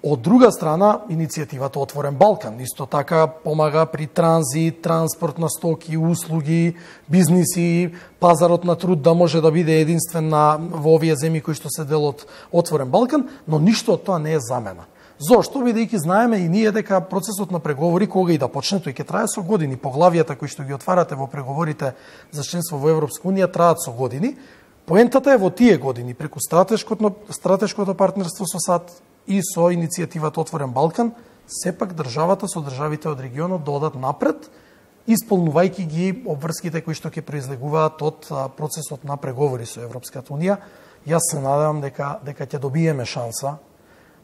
Од друга страна, иницијативата Отворен Балкан исто така помага при транзит, транспорт на стоки, услуги, бизниси, пазарот на труд да може да биде единствен на во овие земји кои што се дел од Отворен Балкан, но ништо од тоа не е замена. Зошто? Бидејќи знаеме и ние дека процесот на преговори кога и да почне, тој ќе трае со години. Поглавијата кои што ги отварате во преговорите за членство во Европска Унија траат со години. Поентата е во тие години преку стратешкото стратешкото партнерство со САД и со иницијативата Отворен Балкан, сепак државата со државите од регионот да одат напред, исполнувајќи ги обврските кои што ќе произлегуваат од процесот на преговори со Европската Унија. Јас се надевам дека дека ќе добиеме шанса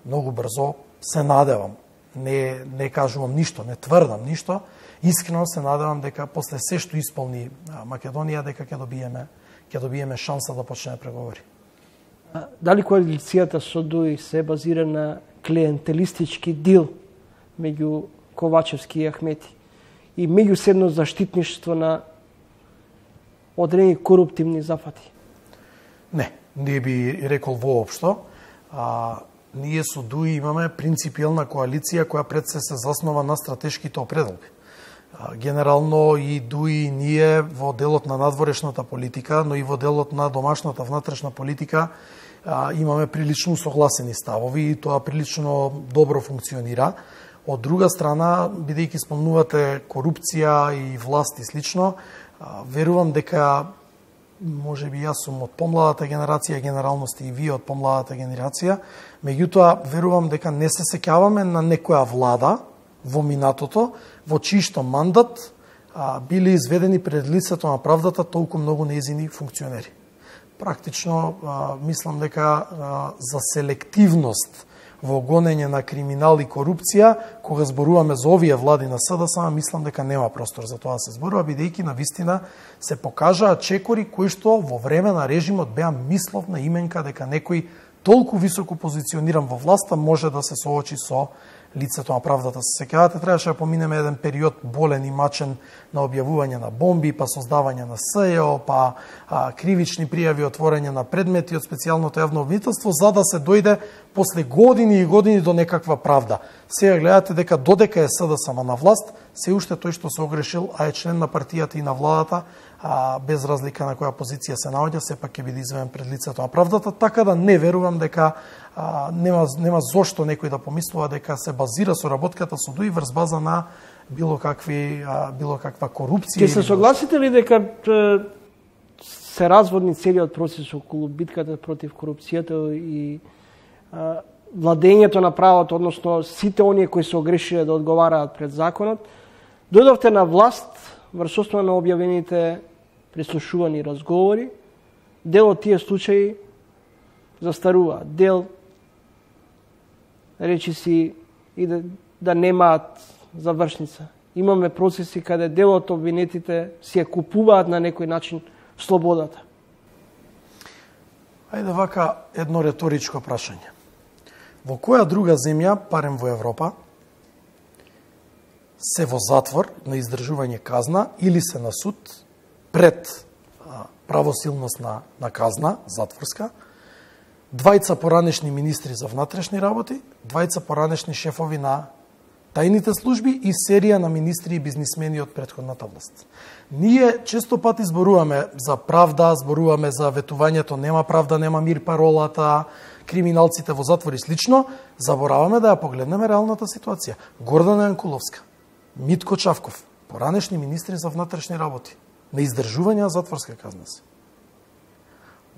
многу брзо, се надевам, не, не кажувам ништо, не тврдам ништо, искрено се надевам дека после се што исполни Македонија, дека ќе добиеме, ќе добиеме шанса да почнеме преговори. Дали коалицијата со ДУИ се базира на клиентелистички дил меѓу Ковачевски и Ахмети и меѓуседно заштитништво на одредени коруптивни зафати? Не, не би рекол воопшто. А, ние со ДУИ имаме принципиелна коалиција која пред се се заснова на стратешките определби. А, генерално и ДУИ и ние во делот на надворешната политика, но и во делот на домашната внатрешна политика а, имаме прилично согласени ставови и тоа прилично добро функционира. Од друга страна, бидејќи спомнувате корупција и власт и слично, верувам дека може би јас сум од помладата генерација, генерално сте и вие од помладата генерација, меѓутоа верувам дека не се сеќаваме на некоја влада во минатото, во чишто мандат а, биле изведени пред лицето на правдата толку многу нејзини функционери. Практично а, мислам дека а, за селективност во гонење на криминал и корупција, кога зборуваме за овие влади на СДСМ, мислам дека нема простор за тоа да се зборува, бидејќи на вистина се покажаа чекори кои што во време на режимот беа мисловна именка дека некој толку високо позициониран во власта може да се соочи со лицето на правдата. Се сеќавате, требаше да поминеме еден период болен и мачен на објавување на бомби, па создавање на СЈО, па а, кривични пријави, отворање на предмети од специјалното јавно обвинителство, за да се дојде после години и години до некаква правда. Сега гледате дека додека е СДСМ на власт, се уште тој што се огрешил, а е член на партијата и на владата, а, без разлика на која позиција се наоѓа, сепак ќе биде изведен пред лицето на правдата, така да не верувам дека а, нема, нема зошто некој да помислува дека се базира соработката со ДУИ врз база на било какви а, било каква корупција. Ќе се согласите ли дека се разводни целиот процес околу битката против корупцијата и а, владењето на правото, односно сите оние кои се огрешиле да одговараат пред законот, дојдовте на власт врз основа на објавените прислушувани разговори, дел од тие случаи застарува, дел речи си и да, да немаат завршница. Имаме процеси каде дел од обвинетите си ја купуваат на некој начин слободата. Ајде вака едно реторичко прашање. Во која друга земја, парем во Европа, се во затвор на издржување казна или се на суд пред а, правосилност на, на казна, затворска, двајца поранешни министри за внатрешни работи, двајца поранешни шефови на тајните служби и серија на министри и бизнисмени од претходната власт. Ние често пати зборуваме за правда, зборуваме за ветувањето нема правда, нема мир, паролата, криминалците во затвор и слично, забораваме да ја погледнеме реалната ситуација. Гордана Јанкуловска, Митко Чавков, поранешни министри за внатрешни работи, на издржување на затворска казна се.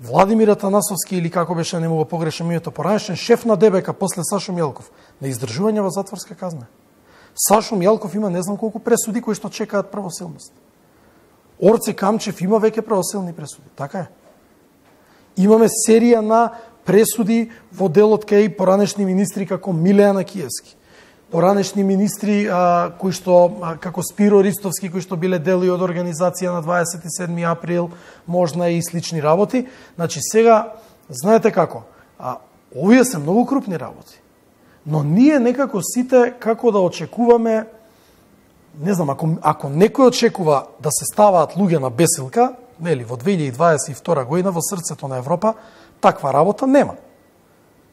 Владимир Атанасовски, или како беше, не му го погрешам името, поранешен шеф на ДБК после Сашо Мјалков, на издржување во затворска казна. Сашо Мјалков има не знам колку пресуди кои што чекаат правосилност. Орце Камчев има веќе правосилни пресуди, така е. Имаме серија на пресуди во делот кај поранешни министри како Милејана Киевски, поранешни министри а, кои што а, како Спиро Ристовски, кои што биле дели од организација на дваесет и седми април, можна и слични работи. Значи сега знаете како, а, овие се многу крупни работи. Но ние некако сите како да очекуваме, не знам, ако ако некој очекува да се ставаат луѓе на бесилка, нели, во две илјади дваесет и втора година во срцето на Европа, таква работа нема.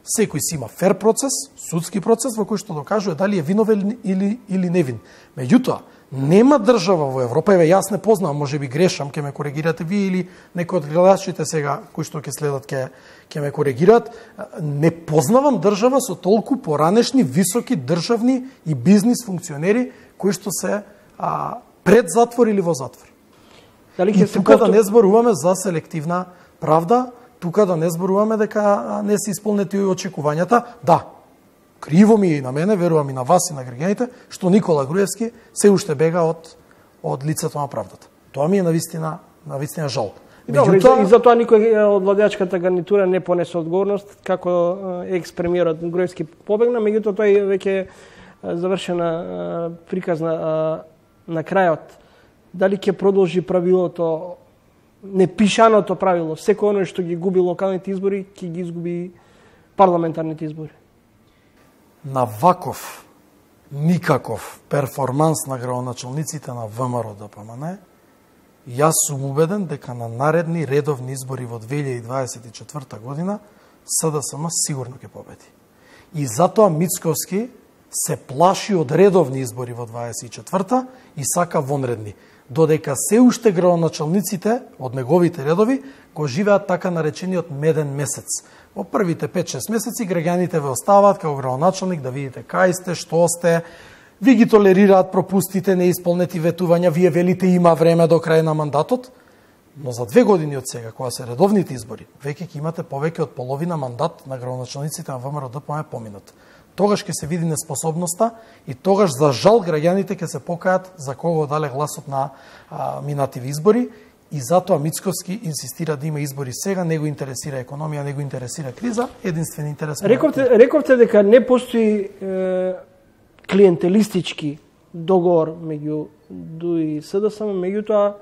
Секој си има фер процес, судски процес во кој што докажува дали е виновен или или невин. Меѓутоа, нема држава во Европа, еве јас не познавам, можеби грешам, ќе ме коригирате вие или некој од гледачите сега кои што ќе следат ќе ќе ме коригираат, не познавам држава со толку поранешни високи државни и бизнис функционери кои што се а, пред затвор или во затвор. Дали ќе се тука да не зборуваме за селективна правда, тука да не зборуваме дека не се исполнети очекувањата. Да, криво ми и на мене, верувам и на вас и на граѓаните, што Никола Груевски се уште бега од од лицето на правдата. Тоа ми е навистина, навистина жал. Добро, и за тоа никој од владеачката гарнитура не понесе одговорност, како екс-премиерот Груевски побегна, меѓутоа тој веќе завршена приказна на крајот. Дали ќе продолжи правилото, непишаното правило, секој оној што ги губи локалните избори, ќе ги изгуби парламентарните избори? На ваков никаков перформанс на градоначалниците на ВМРО Д П М Н, јас сум убеден дека на наредни редовни избори во две илјади дваесет и четврта година С Д С М сигурно ќе победи. И затоа Мицковски се плаши од редовни избори во дваесет и четврта и сака вонредни, додека се уште градоначалниците од неговите редови го живеат така наречениот меден месец. Во првите пет-шест месеци граѓаните ве оставаат како градоначалник да видите кај сте, што сте, ви ги толерираат пропустите, неисполнети ветувања, вие велите има време до крај на мандатот, но за две години од сега, кога се редовните избори, веќе ќе имате повеќе од половина мандат на градоначалниците на ВМРО Д П М Н поминат. Тогаш ќе се види неспособноста и тогаш, за жал, граѓаните ќе се покајат за кого дале гласот на а, минативи избори. И затоа Мицковски инсистира да има избори сега, не го интересира економија, не го интересира криза, единствен интерес. Рековте, рековте дека не постои е, клиентелистички договор меѓу Д У и С Д С М, меѓутоа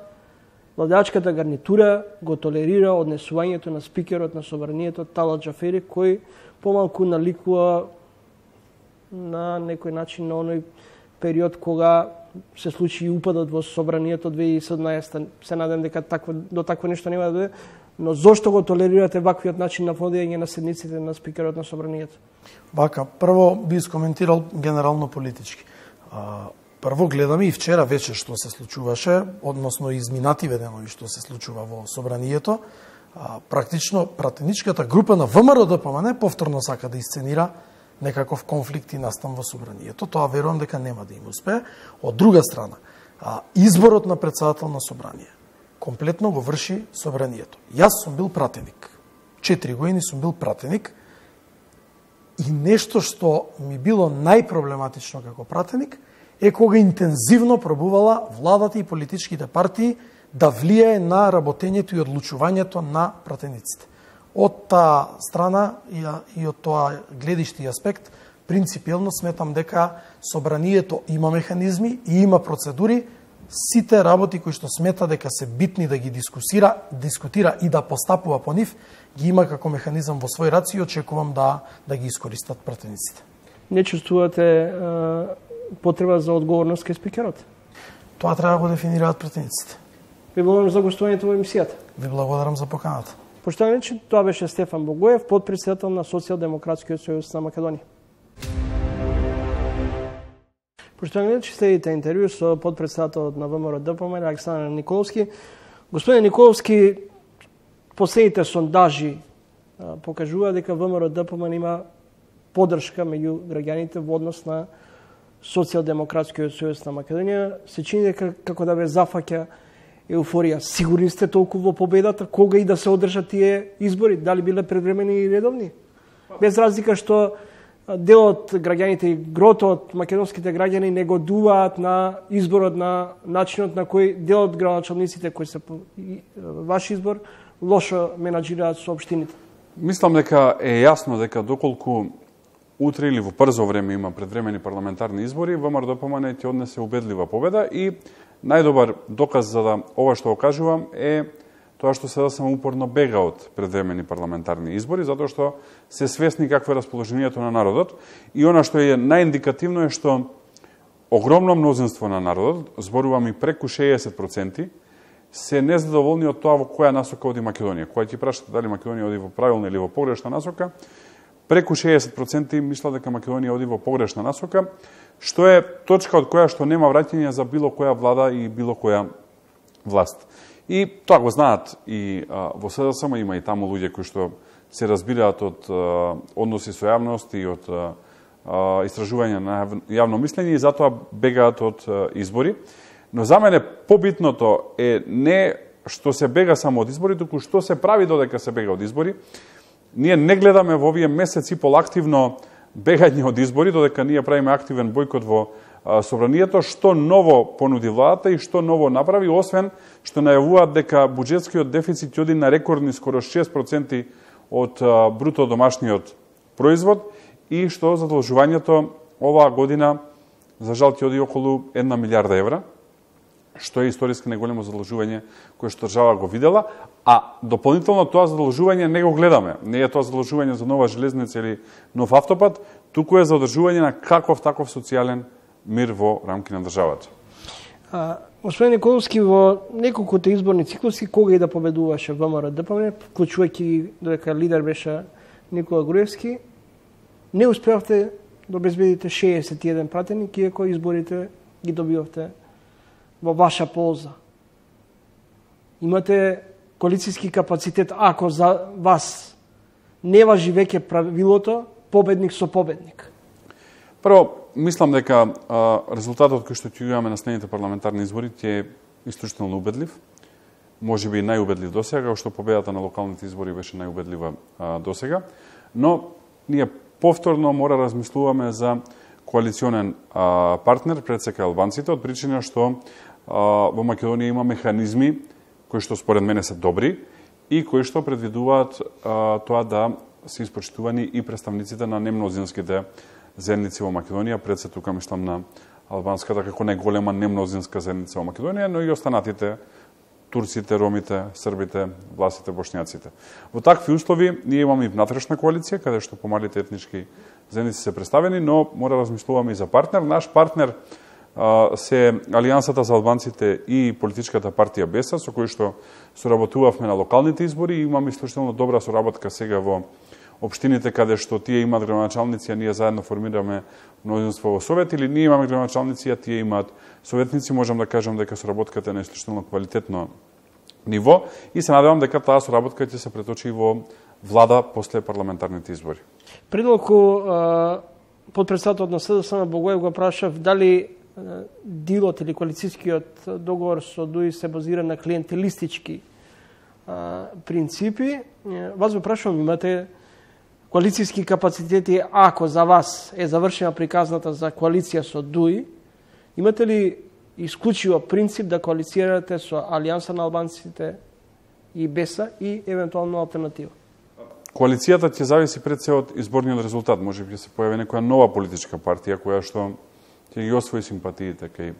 владеачката гарнитура го толерира однесувањето на спикерот на собранието Талат Џафери, кој помалку наликува на некој начин на оној период кога се случи и упадот во собранието две илјади и седнаесетта. Се надам дека такво, до такво нешто нема да биде, но зошто го толерирате ваквиот начин на водење на седниците на спикерот на собранието? Вака, прво би искоментирал генерално политички. А, прво гледаме и вчера вечер што се случуваше, односно изминативе денови што се случува во собранието. А, практично пратеничката група на ВМРО Д П М Н повторно сака да исценира некаков конфликт и настан во собранието. Тоа верувам дека нема да им успее. Од друга страна, а, изборот на председател на собрание комплетно го врши собранието. Јас сум бил пратеник. Четири години сум бил пратеник и нешто што ми било најпроблематично како пратеник е кога интензивно пробувала владата и политичките партии да влијае на работењето и одлучувањето на пратениците. Од таа страна и од тоа гледиште и аспект, принципиелно сметам дека собранието има механизми и има процедури, сите работи кои што смета дека се битни да ги дискусира, дискутира и да постапува по нив, ги има како механизам во свој раци и очекувам да да ги искористат пратениците. Не чувствувате е, потреба за одговорност кај спикерот? Тоа треба да го дефинираат пратениците. Ви благодарам за гостувањето во емисијата. Ви благодарам за поканата. Поштовани, тоа беше Стефан Богоев, подпредседател на Социјалдемократскиот сојуз на Македонија. Поштовани, следите интервју со подпредседателот на ВМРО Д П М Н Александар Николовски. Господин Николовски, последните сондажи покажува дека ВМРО Д П М Н има поддршка меѓу граѓаните во однос на Социјалдемократскиот сојуз на Македонија. Се чини дека како да ве зафаќа еуфорија. Сигурни сте толку во победата, кога и да се одржат тие избори, дали биле предвремени и редовни? Без разлика што дел од граѓаните и грото од македонските граѓани не годуваат на изборот, на начинот на кој дел од градоначалниците кои се ваш избор лошо менаџираат со општините. Мислам дека е јасно дека доколку утре или во брзо време има предвремени парламентарни избори, ВМРО Д П М Н ќе однесе убедлива победа и најдобар доказ за да ова што го кажувам е тоа што сега само упорно бега од предвремени парламентарни избори, затоа што се свесни какво е расположението на народот и она што е најиндикативно е што огромно мнозинство на народот, зборувам и преку шеесет проценти, се незадоволни од тоа во која насока оди Македонија. Кога ќе прашате дали Македонија оди во правилна или во погрешна насока, преку шеесет проценти мислат дека Македонија оди во погрешна насока, што е точка од која што нема враќање за било која влада и било која власт. И тоа го знаат и а, во С Д С М има и таму луѓе кои што се разбираат од а, односи со јавност и од а, а, истражување на јавно мислење и затоа бегаат од а, избори. Но за мене побитното е не што се бега само од избори, туку што се прави додека се бега од избори. Ние не гледаме во овие месеци пол активно бегање од избори, додека ние правиме активен бојкот во собранието, што ново понуди владата и што ново направи, освен што најавуваат дека буџетскиот дефицит ќе оди на рекордни скоро шест проценти од бруто домашниот производ и што задолжувањето оваа година за жал ќе оди околу една милиарда евра, што е историски најголемо задолжување кое што држава го видела, а дополнително тоа задолжување не го гледаме. Не е тоа задолжување за нова железница или нов автопат, туку е за одржување на каков таков социјален мир во рамки на државата. А, господин Николовски, во неколкуте изборни циклуси, кога и да победуваше ВМРО Д П М, вклучувајќи додека лидер беше Никола Груевски, не успеавте да обезбедите шеесет и еден пратеник, иако изборите ги добивавте во ваша полза. Имате коалицијски капацитет, ако за вас не важи веќе правилото победник со победник. Прво, мислам дека а, резултатот кој што ќе имаме на следните парламентарни избори ќе е исклучително убедлив. Може би најубедлив досега, што победата на локалните избори беше најубедлива а, досега, но ние повторно мора да размислуваме за коалиционен а, партнер пред сека албанците, од причина што а, во Македонија има механизми кои што според мене се добри и кои што предвидуваат а, тоа да се испочитувани и представниците на немнозинските заедници во Македонија, пред се тука мислам на албанската како најголема немнозинска заедница во Македонија, но и останатите турците, ромите, србите, власите, бошњаците. Во такви услови ние имаме и внатрешна коалиција, каде што помалите етнички заедници се представени, но мора да размислуваме и за партнер. Наш партнер а, се Алијансата за албанците и политичката партија Беса, со кој што соработувавме на локалните избори и имаме исклучително добра соработка сега во општините каде што тие имаат градоначалници, а ние заедно формираме мнозинство во совет, или ние имаме градоначалници, а тие имаат советници, можам да кажам дека соработката е на исклучително квалитетно ниво и се надевам дека таа соработка ќе се преточи во влада после парламентарните избори. Пред малку подпредседателот на С Д С М Богоев го прашав дали дилот или коалицијскиот договор со Д У И се базира на клиентелистички принципи. Вас го прашувам, имате коалицијски капацитети, ако за вас е завршена приказната за коалиција со Д У И, имате ли исклучиво принцип да коалицирате со Алијанса на албанците и Беса и евентуално алтернатива? Коалицијата ќе зависи пред се од изборниот резултат. Може би ќе се појави некоја нова политичка партија која што ќе ги освои симпатиите кај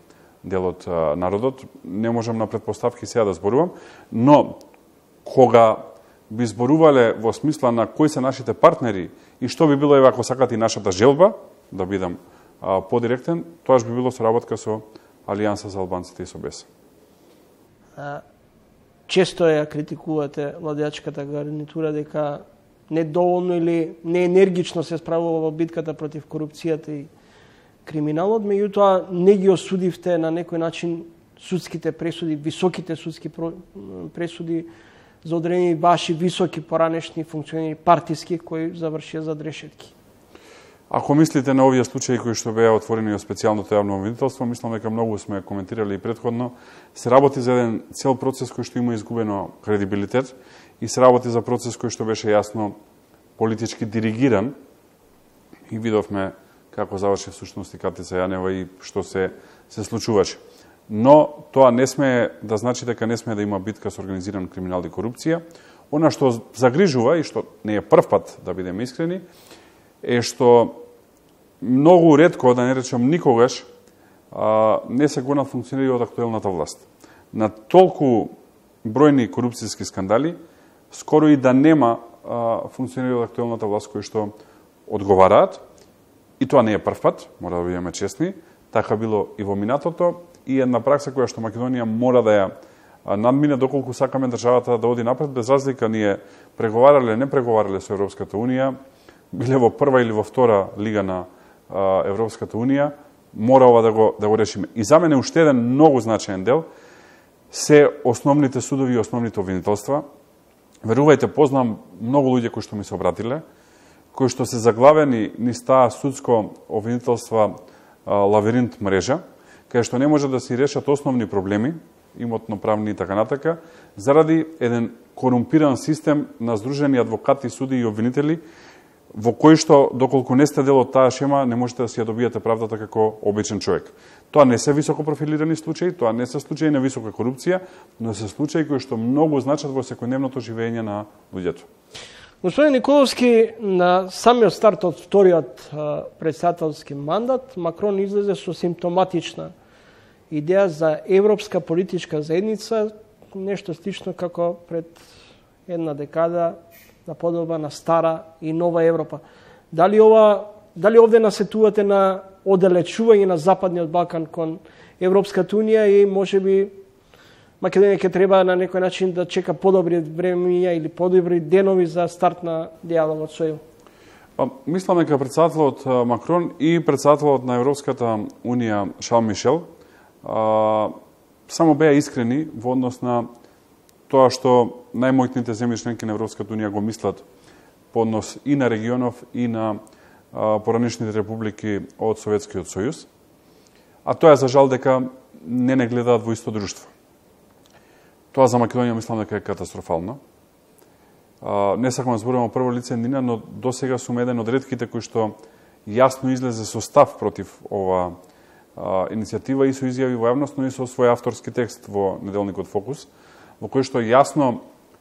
делот а, народот. Не можам на претпоставки сега да зборувам, но кога би зборувале во смисла на кои се нашите партнери и што би било еве ако сакате и нашата желба, да бидам а, подиректен, тоа би било соработка со Алијанса за албанците и со Беса. Често ја критикувате владеачката гарнитура дека недоволно или неенергично се справува во битката против корупцијата и криминалот, меѓутоа не ги осудивте на некој начин судските пресуди, високите судски пресуди за одредени ваши високи поранешни функционери партиски кои завршија за решетки. Ако мислите на овие случаи кои што беа отворени од специјалното јавно обвинителство, мислам дека многу сме коментирали и претходно, се работи за еден цел процес кој што има изгубено кредибилитет и се работи за процес кој што беше јасно политички диригиран и видовме како заврши всушност и Катица Јанева и што се се случуваше. Но тоа не сме да значи дека не сме да има битка со организиран криминал и корупција. Она што загрижува и што не е прв пат, да бидеме искрени, е што многу ретко, да не речем никогаш, а, не се го функционира од актуелната власт. На толку бројни корупцијски скандали, скоро и да нема а, функционира од актуелната власт кои што одговараат, и тоа не е прв пат, мора да бидеме честни, така било и во минатото, и една пракса која што Македонија мора да ја надмине доколку сакаме државата да оди напред, без разлика ние преговарале, не преговарале со Европската Унија, биле во прва или во втора лига на а, Европската Унија, мора ова да го, да го решиме. И за мене уште еден многу значаен дел се основните судови и основните обвинителства. Верувајте, познам многу луѓе кои што ми се обратиле, кои што се заглавени низ таа судско обвинителства а, лавиринт мрежа, кај што не може да се решат основни проблеми, имотно-правни и така натака, заради еден корумпиран систем на здружени адвокати, суди и обвинители, во кој што, доколку не сте дел од таа шема, не можете да си ја добиете правдата како обичен човек. Тоа не се високо профилирани случаи, тоа не се случаи на висока корупција, но се случаи кои што многу значат во секојдневното живење на луѓето. Господин Николовски, на самиот старт од вториот председателски мандат, Макрон излезе со симптоматична идеја за европска политичка заедница, нешто слично како пред една декада на подоба на стара и нова Европа. Дали ова, дали овде насетувате на оддалечување на Западниот Балкан кон Европската унија и можеби Македонија ќе треба на некој начин да чека подобри времења или подобри денови за старт на диалогот со ЕУ? Мислам дека председателот Макрон и председателот на Европската унија Шарл Мишел а, само беа искрени во однос на тоа што најмоćните земји членки на Европската унија го мислат по однос и на регионов и на а, поранешните републики од Советскиот сојуз. А тоа е за жал дека не не гледаат во исто друштво. Тоа за Македонија мислам дека е катастрофално. А, не сакам да зборувам прво лице нина, но досега сум еден од ретките кои што јасно излезе со став против ова а, иницијатива и со изјави во јавност, но и со свој авторски текст во неделникот Фокус, во кој што јасно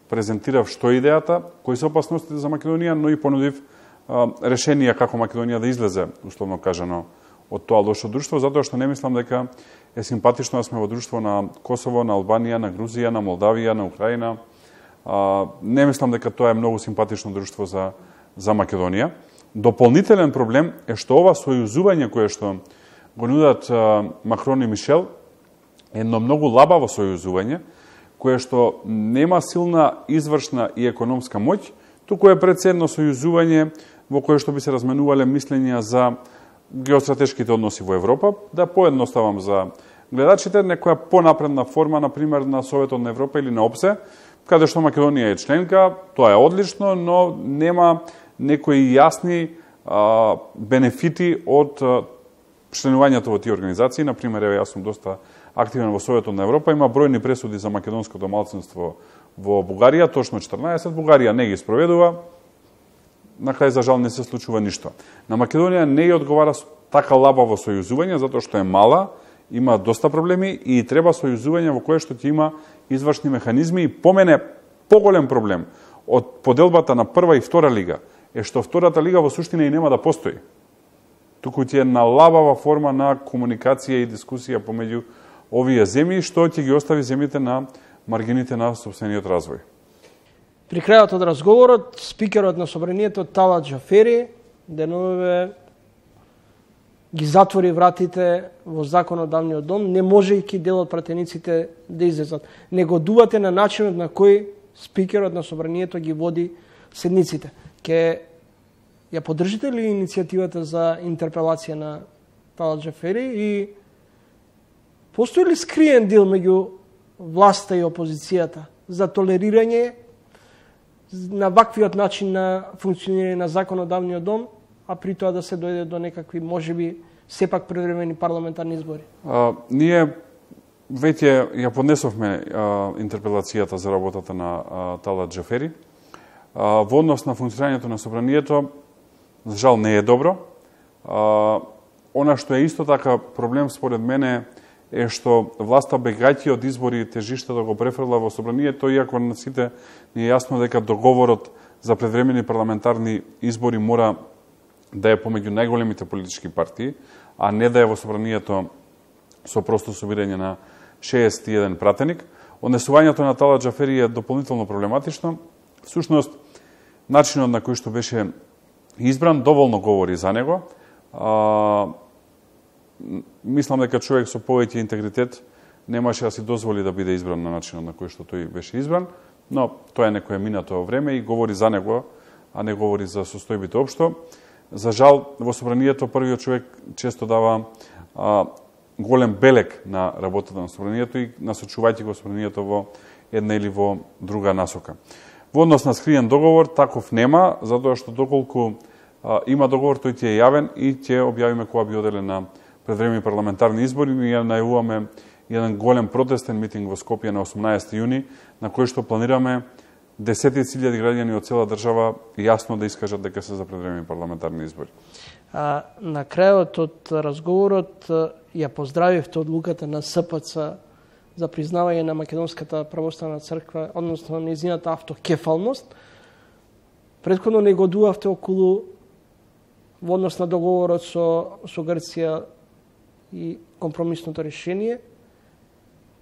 презентирав што е идејата, кои се опасностите за Македонија, но и понудив а, решенија како Македонија да излезе, условно кажано, од тоа лошо друштво, затоа што не мислам дека е симпатично да сме во друштво на Косово, на Албанија, на Грузија, на Молдавија, на Украина. А, не мислам дека тоа е многу симпатично друштво за, за Македонија. Дополнителен проблем е што ова сојузување кое што го нудат а, Макрон и Мишел е едно многу лабаво сојузување, кое што нема силна извршна и економска моќ, туку е пред се едно сојузување во кое што би се разменувале мислења за геостратешките односи во Европа, да поедноставам за гледачите, некоја понапредна форма, например, на Советот на Европа или на ОПСЕ, каде што Македонија е членка, тоа е одлично, но нема некои јасни а, бенефити од а, членувањето во тие организации. Например, еве, јас сум доста активен во Советот на Европа, има бројни пресуди за македонското малцинство во Бугарија, точно четрнаесет, Бугарија не ги спроведува, на крај за жал не се случува ништо. На Македонија не ја одговара така лабаво сојузување, затоа што е мала, има доста проблеми и треба сојузување во кое што ќе има извршни механизми и по мене поголем проблем од поделбата на прва и втора лига е што втората лига во суштина и нема да постои. Туку ќе е на лабава форма на комуникација и дискусија помеѓу овие земји, што ќе ги остави земјите на маргините на сопствениот развој. При крајот од разговорот, спикерот на собранието Талат Џафери денове ги затвори вратите во законодавниот дом, не можејќи дел од пратениците да излезат. Негодувате на начинот на кој спикерот на собранието ги води седниците. Ке ја поддржите ли иницијативата за интерпелација на Талат Џафери и постои ли скриен дел меѓу власта и опозицијата за толерирање на ваквиот начин на функционирање на законодавниот дом, а при тоа да се дојде до некакви, можеби, сепак превремени парламентарни избори? А, ние веќе ја поднесовме а, интерпелацијата за работата на а, Талат Џафери. А, во однос на функционирањето на собранието, за жал не е добро. А, она што е исто така проблем според мене е што власта бегајќи од избори тежишта да го префрла во собранието, иако на сите не е јасно дека договорот за предвремени парламентарни избори мора да е помеѓу најголемите политички партии, а не да е во собранието со просто собирање на шеесет и еден пратеник. Однесувањето на Талат Џафери е дополнително проблематично. Всушност, начинот на кој што беше избран доволно говори за него. А, мислам дека човек со повеќе интегритет немаше да си дозволи да биде избран на начинот на кој што тој беше избран, но тоа е некое минато време и говори за него, а не говори за состојбите општо. За жал, во собранието првиот човек често дава а, голем белек на работата на собранието и насочувајќи го собранието во една или во друга насока. Во однос на скриен договор, таков нема, затоа што доколку а, има договор, тој ќе е јавен и ќе објавиме кога би оделе на предвремени парламентарни избори. Ние најавуваме еден голем протестен митинг во Скопје на осумнаесети јуни, на кој што планираме десетици илјади граѓани од цела држава јасно да искажат дека се за предвремени парламентарни избори. А, на крајот од разговорот ја поздравивте одлуката на СПЦ за признавање на Македонската православна црква, односно нејзината автокефалност. Претходно негодувавте околу во однос на договорот со, со Грција и компромисното решение.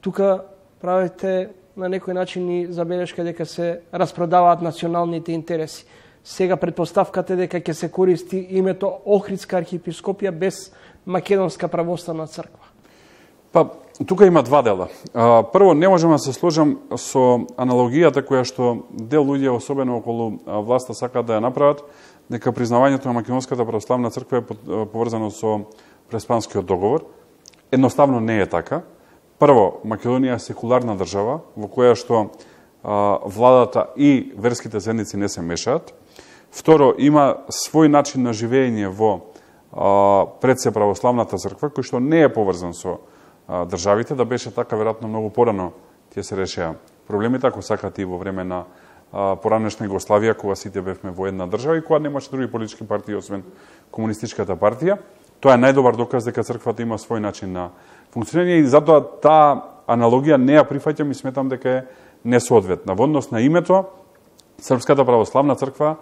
Тука правите на некој начин и забелешка дека се распродаваат националните интереси. Сега предпоставката е дека ќе се користи името Охридска архиепископија без Македонска православна црква. Па, тука има два дела. А, прво, не можам да се сложам со аналогијата која што дел луѓе, особено околу власта, сакаат да ја направат, дека признавањето на Македонската православна црква е поврзано со Преспанскиот договор. Едноставно не е така. Прво, Македонија е секуларна држава, во која што а, владата и верските заедници не се мешаат. Второ, има свој начин на живење во а, пред се православната црква, кој што не е поврзан со а, државите, да беше така веројатно многу порано ќе се решеа проблемите, ако сакате и во време на а, поранешна Југославија, кога сите бевме во една држава и кога немаше други политички партии освен комунистичката партија. Тоа е најдобар доказ дека црквата има свој начин на функционирање и затоа таа аналогија не ја прифаќам и сметам дека е несоодветна. Во однос на името, Српската православна црква,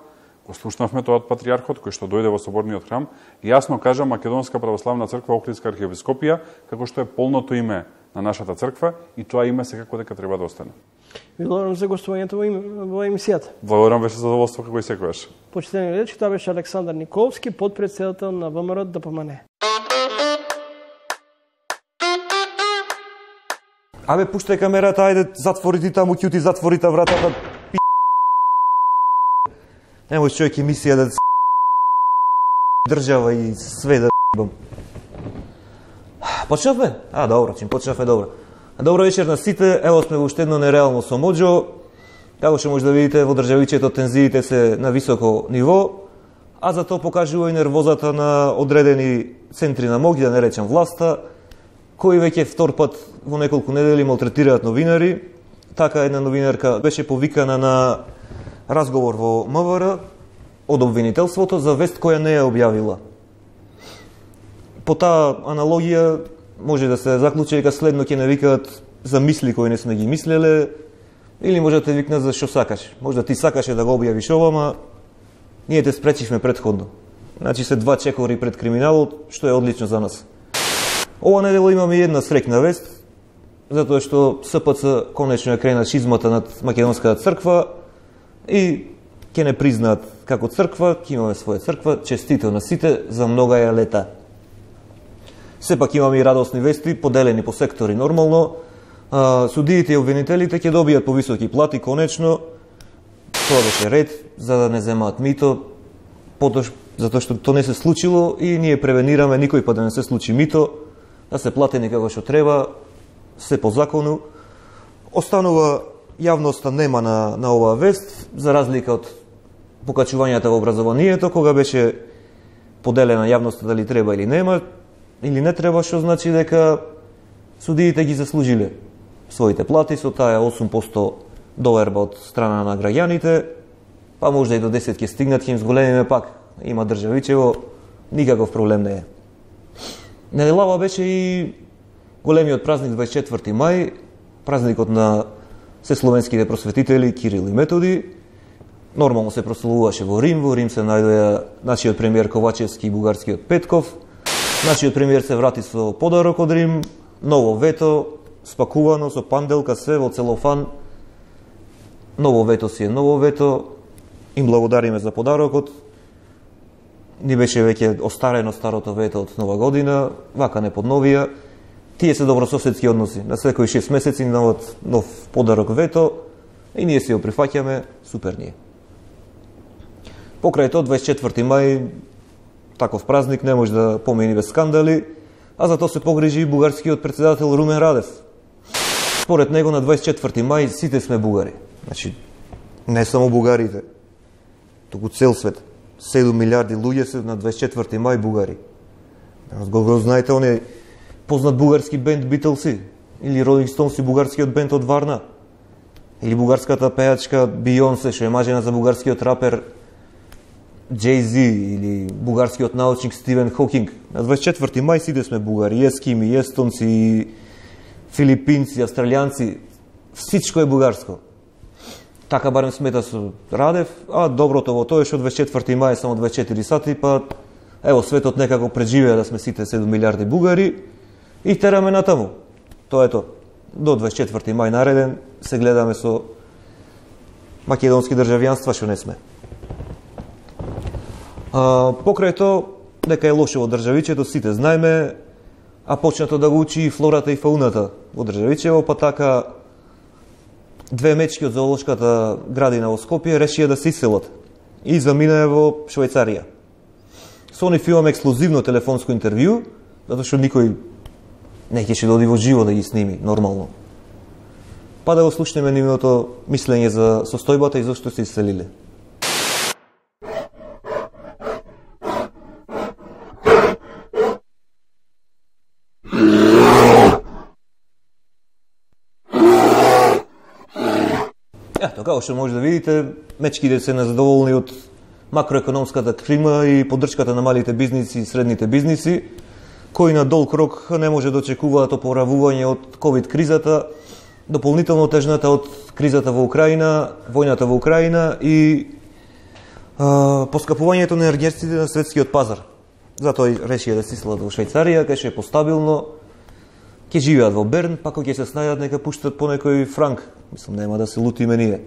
го слушнавме тоа од патријархот кој што дојде во соборниот храм, јасно кажа Македонска православна црква Охридска архиепископија, како што е полното име на нашата црква и тоа име секако дека треба да остане. Ви благодарам за гостувањето во, во емисијата. Благодарам, беше задоволство како и секогаш. Почитани речи, тоа беше Александар Николовски, подпредседател на ВМРО ДПМН. Абе, пуштај камерата, ајде, затвори ти таму, ќути, затвори та вратата, пи***. Немој човек емисија да држава и све да ***бам. Почнавме? А, добро, чим почнавме, добро. Добро вечер на сите, ево сме во уште едно нереално со Моџо. Како што може да видите, во државичето тензиите се на високо ниво, а за тоа покажува и нервозата на одредени центри на моќ, да не речем власта, кои веќе втор пат во неколку недели малтретираат новинари. Така една новинарка беше повикана на разговор во МВР од обвинителството за вест која не ја објавила. По таа аналогија може да се заклучи дека следно ќе не викаат за мисли кои не сме ги мислеле, или може да те викнат за што сакаш. Може да ти сакаше да го објавиш ова, ама ние те спречивме предходно. Значи се два чекори пред криминалот, што е одлично за нас. Ова недела имаме една среќна вест, затоа што СПЦ конечно ја крена шизмата над Македонската црква и ќе не признаат како црква, ќе имаме своја црква, честито на сите за многа ја лета. Сепак имаме и радосни вести, поделени по сектори нормално. Судиите и обвинителите ќе добијат повисоки плати, конечно. Тоа беше ред, за да не земаат мито, потоа затоа што тоа не се случило и ние превенираме никој пат да не се случи мито, да се платени како што треба, се по закону. Останува јавноста нема на, на оваа вест, за разлика од покачувањата во образованието, кога беше поделена јавноста дали треба или нема, или не треба, што значи дека судиите ги заслужиле своите плати со таа осум проценти доверба од страна на граѓаните, па можда и до десет ќе стигнат, ќе им зголемиме пак. Има државичево, никаков проблем не е. Неделава беше и големиот празник дваесет и четврти мај, празникот на сесловенските просветители Кирил и Методи. Нормално се прославуваше во Рим, во Рим се најдоја нашиот премиер Ковачевски и бугарскиот Петков. Нашиот премиер се врати со подарок од Рим, ново вето, спакувано со панделка, се во целофан. Ново вето си е ново вето, им благодариме за подарокот. Ни беше веќе остарено старото вето од нова година, вака не подновија. Тие се добрососедски односи. На секој шест месеци новот нов подарок вето и ние си го прифаќаме, супер ние. Покрај тоа дваесет и четврти мај, таков празник не може да помини без скандали, а за тоа се погрижи и бугарскиот председател Румен Радев. Според него на дваесет и четврти мај сите сме бугари. Значи, не само бугарите, туку цел свет. седум милиарди луѓе се на дваесет и четврти мај бугари. Го, го знаете, он е познат бугарски бенд Beatles или Rolling Stones и бугарскиот бенд од Варна. или бугарската пејачка Бионсе, што е мажена за бугарскиот рапер Джей-Зи, или бугарскиот научник Стивен Хокинг. На дваесет и четврти мај сите сме бугари, и ескими, и естонци, и филипинци, австралијанци, всичко е бугарско. Така барем смета со Радев, а доброто во тоа е што дваесет и четврти мај е само дваесет и четири сати, па ево светот некако преживеа да сме сите седум милиарди бугари и тераме натаму. Тоа е тоа. До дваесет и четврти мај нареден се гледаме со македонски државјанства што не сме. А, покрај тоа, дека е лошо во државичето, сите знаеме, а почнато да го учи и флората и фауната во државичево, па така две мечки од зоолошката градина во Скопје решија да се иселат и заминаа во Швајцарија. Со нив имаме ексклузивно телефонско интервју, затоа што никој не ќе да оди во живо да ги сними нормално. Па да го слушнеме нивното мислење за состојбата и зашто се иселиле. Ето, како што може да видите, мечките се незадоволни од макроекономската клима и поддршката на малите бизниси и средните бизниси, кои на долг рок не може да очекуваат опоравување од ковид кризата, дополнително тежната од кризата во Украина, војната во Украина и а, поскапувањето на енергетиците на светскиот пазар. Затоа и решија да се иселат во Швајцарија, кај што е постабилно, ќе живеат во Берн, па кога ќе се снајдат нека пуштат по некој франк. Мислам, нема да се лутиме ние.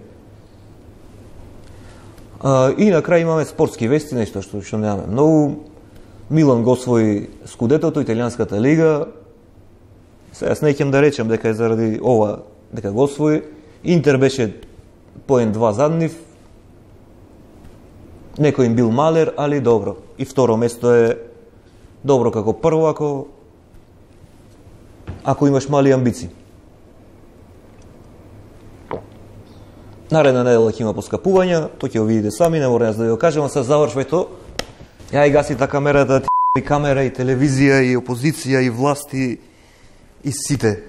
А, и на крај имаме спортски вести, нешто што, што немаме многу. Милан го освои скудетото, италијанската лига. Сега јас не ќе да речем дека е заради ова дека го освои. Интер беше поен два зад нив. Некој им бил малер, али добро. И второ место е добро како прво, ако ако имаш мали амбиции. Наредна недела ќе има поскапувања, тоа ќе го видите сами, не мора јас да ви го кажам, а се завршвај то. Ја и гаси та камерата, и камера, и телевизија, и опозиција, и власти, и сите.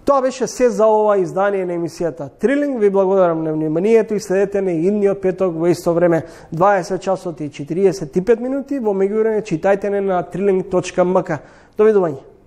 Тоа беше се за ова издание на емисијата Трилинг. Ви благодарам на вниманието и следете на идниот петок во исто време дваесет часот и четириесет и пет минути. Во меѓувреме читајте на трилинг точка ем ка. Довидување.